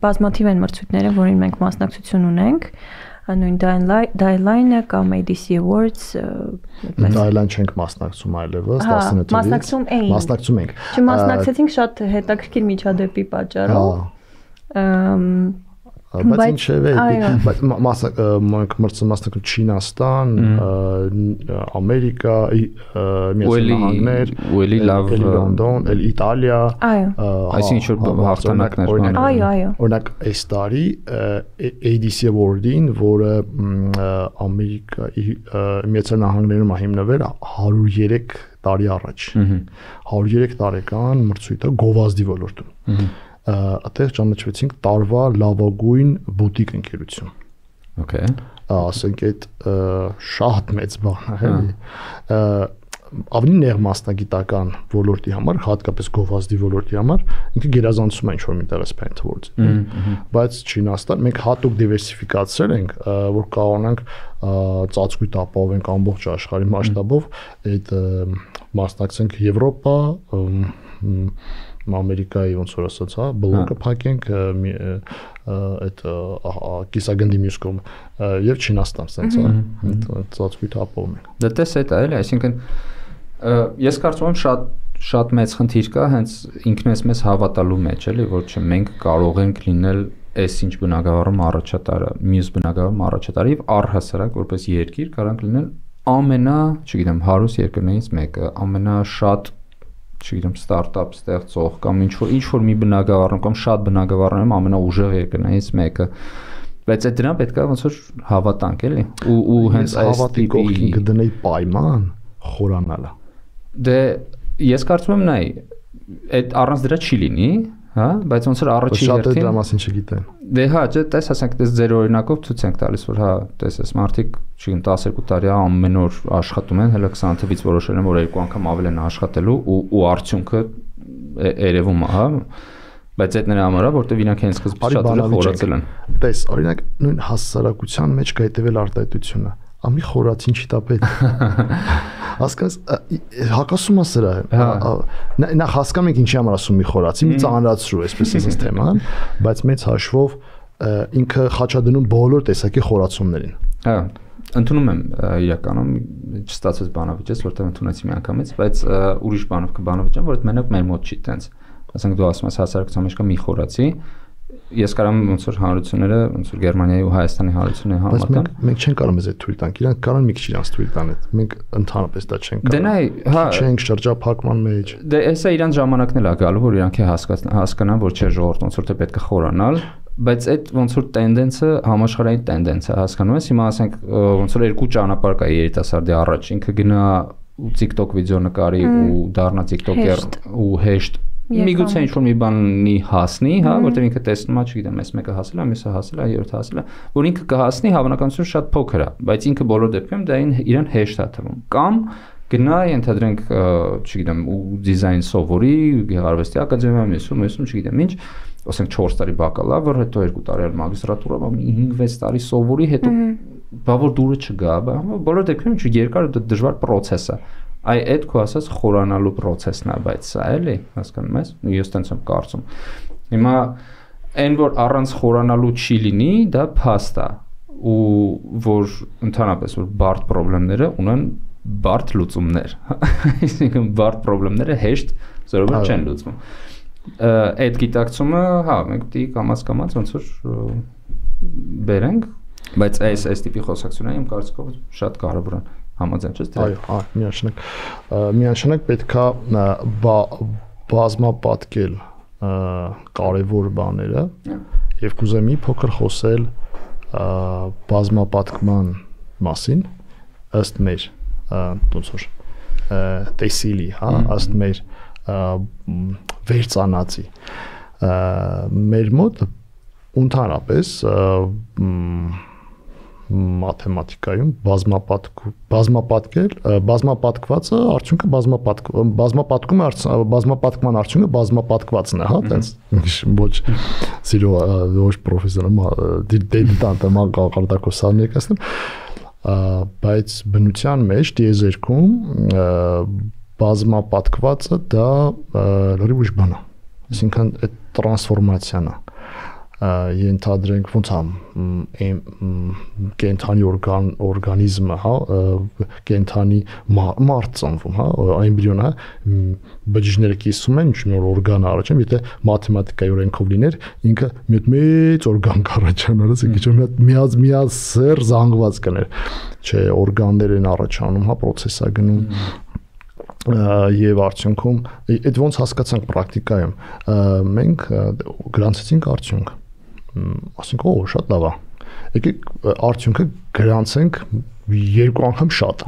բազմաթիվ են մրցույթները, որին մենք մասնակցություն ունենք, նույն Dyline-ը կամ ADC Awards Dyline չենք մասնակցում այլևս 19 թվականից մասնակցում ենք չմասնակցեցինք շատ հետաքրքիր միջադեպի պատճառով բայց ինչեւ է մենք մասնակցում Չինաստան, Ամերիկա, Միացյալ Նահանգներ, Լոնդոն, Իտալիա, այսինքն ինչ-որ հաղթանակներ օրինակ այս տարի ADC Award-ին, որը Ամերիկայի Միացյալ Նահանգներում հիմնվել 103 տարի առաջ 103 տարեկան մրցույթը գովազդի ոլորտում այդտեղ ճանաչվեցինք տարվա լավագույն բուտիկ ընկերություն։ Okay։ Ասենք այդ շատ մեծ բան է, էլի։ Ավելի նեղ մասնագիտական ոլորտի համար, հատկապես գովազդի ոլորտի համար, ինքը գերազանցում է ինչ-որ միտեղ Paint Awards-ը։ Բայց Չինաստան մենք հատուկ դիվերսիֆիկացրել ենք, որ կարողանանք ծածկույթ ապահովենք ամբողջ աշխարհի մասշտաբով, այդ մասնակցենք Եվրոպա, Ամերիկայի ոնց որ ասած, հա, բլոկը փակենք այդ կիսագնդի մյուս կողմը եւ Չինաստան, sense, հա, ծածկույթ ապահովում ենք։ Դա տես է դա էլի, այսինքն ես կարծում եմ շատ մեծ խնդիր կա հենց ինքնես մեզ հավատալու մեջ, էլի, որ չէ մենք կարող ենք լինել այս ինչ բնակավարում առաջատարը, մյուս բնակավարում առաջատարը եւ առհասարակ որպես երկիր կարանք լինել ամենա, չգիտեմ, հարուստ երկրներից մեկը, ամենաշատ չգիտեմ ստարտափ ստեղծող կամ ինչ որ մի բնակավարում կամ շատ բնակավարներում ամենաուժեղ երկրներից մեկը բայց այդ դրան պետք է ոնց որ հավատանք էլի ու հենց այս հավատի կողքին կդնեի պայման խորանալը դե ես կարծում եմ նայ այդ առանց դրա չի լինի հա բայց ոնց որ առաջի հերթին շատ դրա մասին չգիտեն դե հա տես ասենք դες ձեր օրինակով ցույց ենք տալիս որ հա տես այս մարդիկ չգիտեմ 12 տարի ամեն օր աշխատում են հələ 20 թվից որոշել են որ երկու անգամ ավել են աշխատելու ու արդյունքը երևում է հա բայց այդ նրա համար է որտեվ իրանք հենց սկզբից շատ ուժեղ խորացել են տես օրինակ նույն հասարակության մեջ կա հետևել արտահայտությունը ամի խորացին չի տա պետք հասկանաս հակասում է սրա նախ հասկանում ենք ինչի համար ասում մի խորացի մի ծանրացրու այսպես ասած թեման բայց մեծ հաշվով ինքը խաչադնում բոլոր տեսակի խորացումներին հա ընդունում եմ իրականում չստացվեց բանավիճես որտեղ ընդունեցի մի անգամից բայց ուրիշ բանով կբանավիճեմ որ այդ մենակ մեր մոտ չի տենց ասենք դու ասում ես հասարակության մեջ կա մի խորացի ես կարամ ոնց որ հանրությունները ոնց որ Գերմանիայի ու Հայաստանի հանրությունների համատան մենք չենք կարող մեզ այդ թույլ տանք իրանք կարող մի քիչ իրանց թույլ տան այդ մենք ընդհանրապես դա չենք կարող դե նայ հա չենք շրջափակման մեջ դե էսա իրանց ժամանակն էլ է գալու որ իրանք հասկանան որ չէ ժողովուրդ ոնց որ թե պետք է խորանալ բայց այդ ոնց որ տենդենսը համաշխարհային տենդենս է հասկանում ես հիմա ասենք ոնց որ երկու ճանապարհ կա երիտասարդի առաջ ինքը գնա ու TikTok վիդեո նկարի ու դառնա TikToker ու հեշտ միգուցե ինչ-որ մի բանի հասնի, հա, որտեղ ինքը տեսնում է, չգիտեմ, այս մեկը հասել է, մյուսը հասել է, երրորդը հասել է, որ ինքը կհասնի, հավանականությունը շատ փոքր է, բայց ինքը բոլոր դեպքերում դա իրեն հեշտ է թվում։ Կամ գնա, ենթադրենք, չգիտեմ, ու դիզայն սովորի, գեղարվեստի ակադեմիայում, մյուսում, չգիտեմ ինչ, ասենք 4 տարի բակալավր, հետո 2 տարի էլ մագիստրատուրա, 5-6 տարի սովորի, հետո բա որ դուրը չգա, բոլոր դեպքերում երկար դժվար process է։ Այ այդ քո ասած խորանալու process-ն է, բայց սա էլի, հասկանում ես, ես տենց եմ կարծում։ Հիմա այն որ առանց խորանալու չի լինի, դա փաստ է, ու որ ընդհանրապես որ բարդ խնդիրները ունեն բարդ լուծումներ։ Այսինքն բարդ խնդիրները հեշտ զորովեր չեն լուծվում։ Այդ գիտակցումը, հա, մենք դի կամաց ոնց որ բերենք, բայց այս տիպի խոսակցությունները իմ կարծիքով շատ կարևոր են։ Համաձայն չես դրա։ Այո, միանշանակ պետքա բազմապատկել կարևոր բաները եւ կուզեմ մի փոքր խոսել բազմապատկման մասին ըստ մեր ոնց որ տեսիլի, հա, ըստ մեր վերծանածի մեր մոտ ընդհանրապես մաթեմատիկայում բազմապատկվածը արդյունքը բազմապատկման արդյունքը բազմապատկվածն է, հա, տենց ոչ սիրո ոչ պրոֆեսիոնալ դիլետանտ կարգարկոսան ներկայացնում, բայց բնության մեջ դիեզերքում բազմապատկվածը դա լրիվ ուրիշ բան է, այսինքն այդ տրանսֆորմացիան է, ենթադրենք ոնց է կենթանի օրգանիզմը, հա, կենթանի մարդ ծնվում, հա, էմբրիոն, հա, բջիջները կիսում են, ինչ-որ օրգան առաջանում, եթե մաթեմատիկայի օրենքով լիներ, ինքը մի հատ մեծ օրգան կառաջանար, ասենք, միասեռ զանգված կներ, չէ, օրգաններ են առաջանում, հա, պրոցեսա գնում եւ արդյունքում այդ ոնց հասկացանք պրակտիկայում մենք գրանցեցինք արդյունք ասենք օ շատ լավ է եկեք արդյունքը գրանցենք երկու անգամ շատ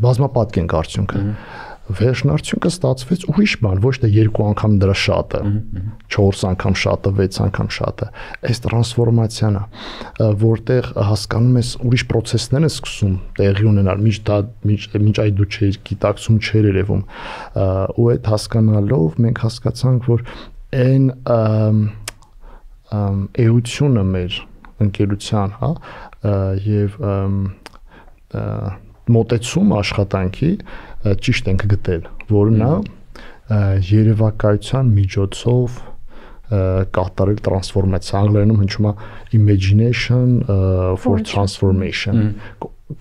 բազմապատկենք արդյունքը վերջն արդյունքը ստացվեց ուրիշ բան ոչ թե երկու անգամ դրա շատը 4 անգամ շատը 6 անգամ շատը այս տրանսֆորմացիան է որտեղ հասկանում ես ուրիշ process-ներ են սկսում տեղի ունենալ մինչ այդ դու չէիր գիտակցում չէր երևում ու այդ հասկանալով մենք հասկացանք որ այն էությունը մեր ընկերության հա եւ մոտեցում աշխատանքի ճիշտ ենք գտել, որ նա երևակայության միջոցով կատարել տրանսֆորմացիա անգլերենում հնչում է imagination for transformation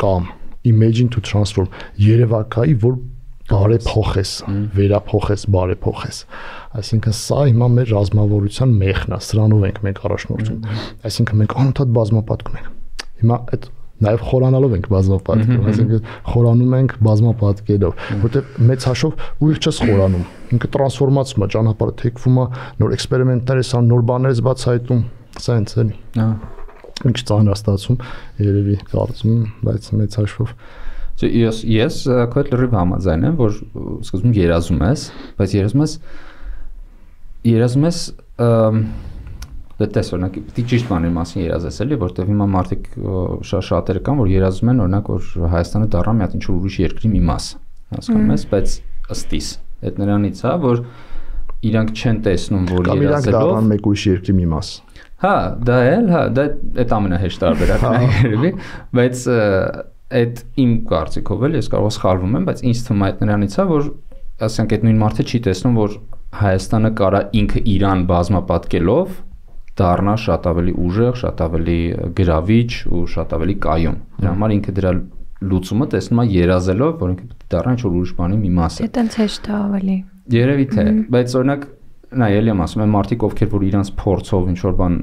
կամ imagine to transform երևակայի որ բարեփոխես վերափոխես բարեփոխես այսինքն սա հիմա մեր ռազմավարության մեխն է սրանով ենք մենք առաջնորդում այսինքն մենք անընդհատ բազմապատկում ենք հիմա այդ նաև խորանալով ենք բազմապատկերով, այսինքն խորանում ենք բազմապատկերով, որտեղ մեծ հաշվով ուղիղ չես խորանում, ինքը տրանսֆորմացվում է, ճանապարհը թեքվում է, նոր էքսպերիմենտներ ես անում, նոր բաներ ես բացահայտում, սա ինձ էլի։ Ինչ ծանրաստացում, երևի կարծում եմ, բայց մեծ հաշվով ես քո հետ լրիվ համաձայն եմ, որ սկզբում երազում ես, բայց երազում ես Դες օրինակ պիտի ճիշտ բանի մասին երազես էլի, որտեղ հիմա մարդիկ շատերը կան, որ երազում են օրինակ որ Հայաստանը դառնա մի հատ ինչ-որ ուրիշ երկրի մի մաս, հասկանում ես, բայց ըստիս այդ նրանից է, որ իրանք չեն տեսնում, որ երազելով դառնան մեկ ուրիշ երկրի մի մաս։ Հա, դա էլ, հա, դա այդ ամենահեշտ տարբերակն է երևի, բայց այդ իմ կարծիքով էլ ես կարող սխալվում եմ, բայց ինձ թվում է այդ նրանից է, որ ասենք այդ նույն մարդը չի տեսնում, որ Հայաստանը կարա ինքը իրան բազմապատկելով դառնա շատ ավելի ուժեղ, շատ ավելի գրավիչ ու շատ ավելի կայուն։ Դրա համար ինքը դրա լուծումը տեսնում է երազելով, որ ինքը պետք է դառնա ինչ-որ ուրիշ բանի մի մասը։ Դա տենց հեշտ է ավելի։ Երևի թե, բայց օրինակ նա ելի եմ ասում, այն մարդիկ ովքեր որ իրանց փորձով ինչ-որ բան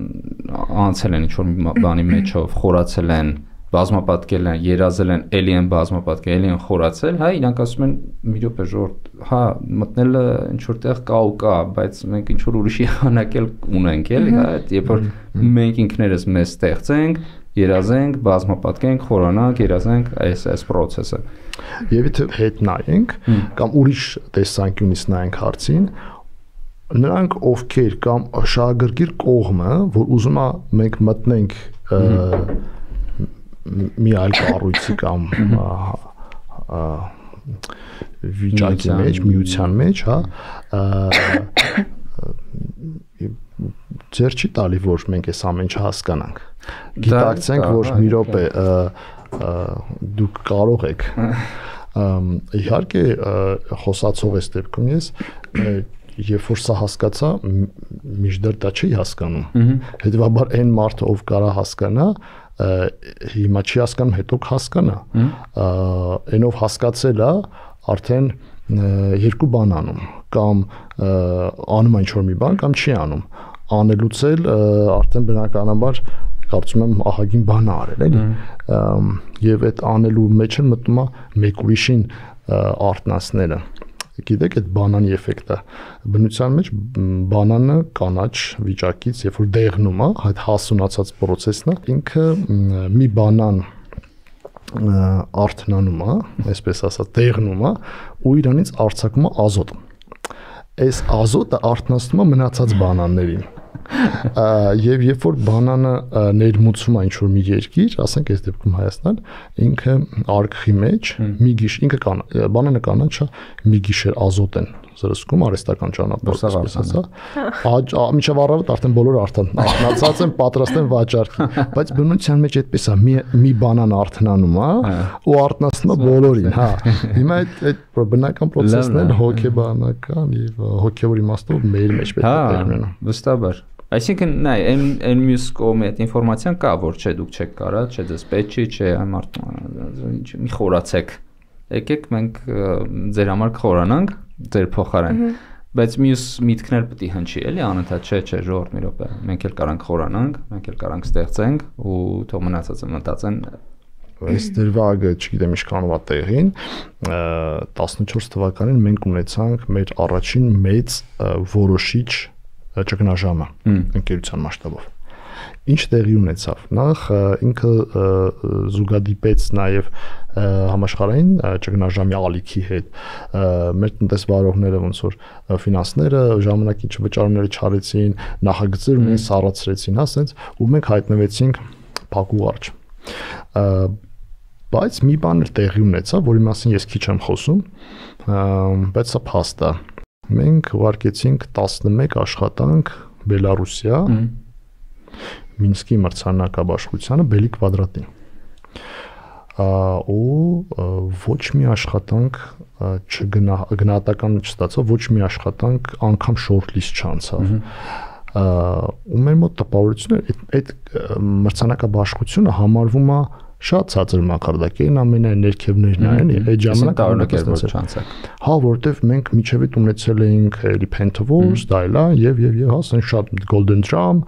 անցել են ինչ-որ բանի մեջով, խորացել են, բազմապատկել են, երազել են, ելի են բազմապատկել, ելի են խորացել, հա, իրանք ասում են մի րոպե ժողովուրդ, հա, մտնելը ինչ որտեղ կա ու կա, բայց մենք ինչ որ ուրիշի հանակել ունենք, էլի, հա, երբ որ մենք ինքներս մեզ ստեղծենք, երազենք, բազմապատկենք, խորանանք, երազենք այս process-ը։ Եվ եթե հետ նայենք կամ ուրիշ տեսանկյունից նայենք հարցին, նրանք ովքեր կամ շահագրգիռ կողմը, որ ուզում է մենք մտնենք մի այլ կառույցի կամ վիճակի մեջ, միության մեջ, հա, ձեր չի տալի, որ մենք այս ամեն ինչ հասկանանք։ Գիտակցենք, որ մի րոպե դուք կարող եք։ Իհարկե, խոսացող այս դեպքում ես երբ որ սա հասկացա, միշտ դա չի հասկանում։ Հետևաբար այն մարդը, ով կարա հասկանա, հիմա չի հասկանում, հետո կհասկանա։ Այնով հասկացել է, արդեն երկու բան անում, կամ անում է ինչ-որ մի բան, կամ չի անում։ Անելուց էլ արդեն բնականաբար կարծում եմ ահագին բան է արել, էլի։ Եվ այդ անելու մեջ էլ մտնում է մեկ ուրիշին արտնասները։ Գիտեք այդ բանանի էֆեկտը բնության մեջ բանանը կանաչ վիճակից երբ որ դեղնում է այդ հասունացած process-ն է ինքը մի բանան արթնանում է այսպես ասած դեղնում է ու իրանից արձակում է ազոտ այս ազոտը արթնացնում է մնացած բանաններին եւ երբ որ բանանը ներմուծվում է ինչ-որ մի երկիր, ասենք այս դեպքում Հայաստան, ինքը արկղի մեջ մի գիշեր ինքը բանանը կանաչ է, մի գիշեր ազոտ են զրսկում արհեստական ճանապարհով, ասա։ Մինչև առավոտ արդեն բոլորը արթնացած են, պատրաստ են վաճառքի, բայց բնության մեջ այդպես է, մի բանան արթնանում է ու արթնացնում է բոլորին, հա։ Հիմա այդ բնական process-ն է հոգեբանական եւ հոգեվոր իմաստով մեր մեջ պետք է տեղ ունենա։ Վստահաբար։ Այսինքն նայ, այն մյուս կողմի այդ ինֆորմացիան կա, որ չէ դուք չեք կարա, չէ դες պետք չի, չէ մի խորացեք։ Եկեք մենք ձեր համար կխորանանք, ձեր փոխարեն։ Բայց մյուս միտքներ պետք է հնչի, էլի անընդհատ չէ, ժողովուրդ մի րոպե։ Մենք էլ կարանք խորանանք, մենք էլ կարանք ստեղծենք ու թող մնացածը մտածեն։ Այս դրվագը, չգիտեմ ինչքանով է տեղին, 14 թվականին մենք ունեցանք մեր առաջին մեծ որոշիչ ճգնաժամը ընկերության մասշտաբով։ Ինչ տեղի ունեցավ։ Նախ ինքը զուգադիպեց նաև համաշխարհային ճգնաժամի ալիքի հետ։ Մեր տնտեսվարողները ոնց որ ֆինանսները ժամանակի չվճարումները չարեցին, նախագծեր ունեն սառացրեցին, հա, ասենց ու մենք հայտնվեցինք փակուղ արջ։ Բայց մի բան էլ տեղի ունեցավ, որի մասին ես քիչ եմ խոսում, բայց սա փաստ է։ Մենք ուղարկեցինք 11 աշխատանք Բելարուսիա Մինսկի մրցանակաբաշխությանը Բելի Կվադրատին։ Ու ոչ մի աշխատանք գնահատական չստացավ, ոչ մի աշխատանք անգամ շորթլիստ չանցավ։ Ու մեր մոտ տպավորությունը այդ մրցանակաբաշխությունը համարվում է շատ ցածր մակարդակին, ամենայն ներքևներն են, այդ ժամանակ չանցակ։ Հա, որտեվ մենք միջև այդ ունեցել էինք էլի Pentaverse, դայլա եւ ասեն շատ Golden Drum,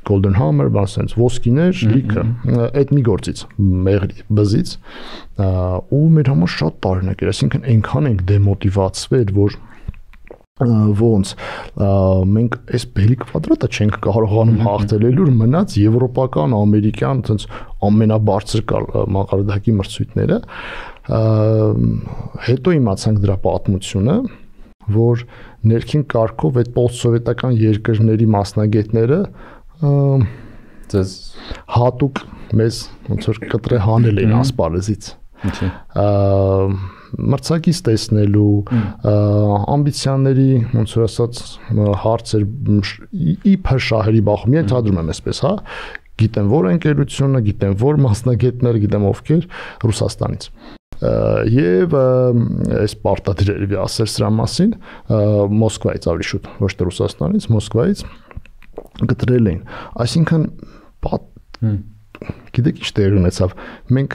Golden Hammer, ասենց ոսկիներ, լիքը, այդ մի գործից, մեղրի, բզից, ու մեր համար շատ տարօրինակ էր, այսինքն այնքան ենք դեմոտիվացվել, որ ոնց մենք այս Բելի Կվադրատը չենք կարողանում հաղթել, ելուր մնաց եվրոպական, ամերիկյան, այտենց ամենաբարձր մակարդակի մրցույթները, հետո իմացանք դրա պատմությունը, որ ներքին կարգով այդ պոստսովետական երկրների մասնագետները հատուկ մեզ ոնց որ կտրե հանել են ասպարեզից։ Մրցակից տեսնելու ամբիցիաների ոնց որ ասած հարցեր իբր շահերի բախում ենթադրում եմ այսպես, հա, գիտեմ որ ընկերությունը, գիտեմ որ մասնագետներ, գիտեմ ովքեր Ռուսաստանից։ Եվ այս պարտադիրերևի ասել սրա մասին Մոսկվայից ավելի շուտ, ոչ թե Ռուսաստանից, Մոսկվայից գտրել էին։ Այսինքն գիտեք ինչ տեղ ունեցավ, մենք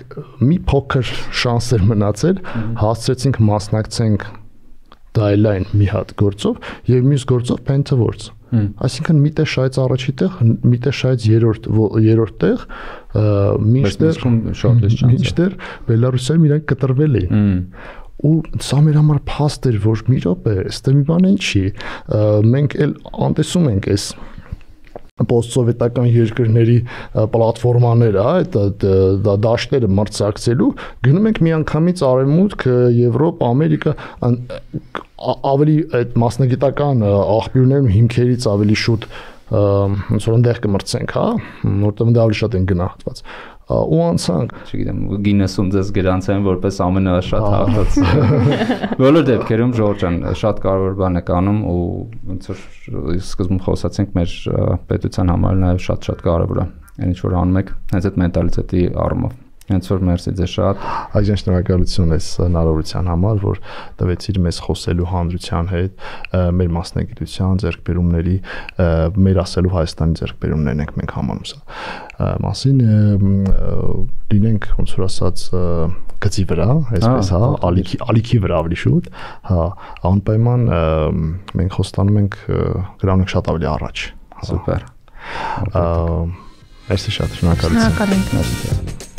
մի փոքր շանսեր մնացել, հասցրեցինք մասնակցենք դայլայն մի հատ գործով եւ մյուս գործով Pentaverse։ Այսինքն մի տեղ շահեց առաջի տեղ, մի տեղ շահեց երրորդ տեղ, մինչդեռ Բելարուսիայում իրանք կտրվել էին։ Ու սա մեր համար փաստ էր, որ մի րոպե, ստե մի բան չի, մենք էլ անտեսում ենք այս պոստսովետական երկրների պլատֆորմաները, այդ դաշտերը մրցակցելու, գնում ենք միանգամից արևմուտք, Եվրոպա, Ամերիկա, ավելի այդ մասնագիտական աղբյուրներում հիմքերից ավելի շուտ ոնց որ այնտեղ կմրցենք, հա, որտեղ դա ավելի շատ են գնահատված։ Ու անցանք, չգիտեմ, Գինեսում ձեզ գրանցեն որպես ամենաշատ հաղթած։ Բոլոր դեպքերում Ժորժ ջան, շատ կարևոր բան եք անում ու ոնց որ սկզբում խոսացինք մեր պետության համար նաև շատ կարևոր է։ Այն ինչ որ անում եք, հենց այդ մենտալիտետի առումով։ Հենց որ մերսի ձեզ շատ։ Այժմ շնորհակալություն այս հնարավորության համար, որ տվեցիր մեզ խոսելու հանրության հետ, մեր մասնագիտության ձեռքբերումների, մեր ասելու Հայաստանի ձեռքբերումներն ենք մենք համանում սա մասին լինենք ոնց որ ասած գծի վրա, այսպես հա, ալիքի վրա ավելի շուտ, հա, անպայման մենք խոստանում ենք գրանք շատ ավելի առաջ։ Սուպեր։ Merci շատ, շնորհակալություն։ Շնորհակալ ենք։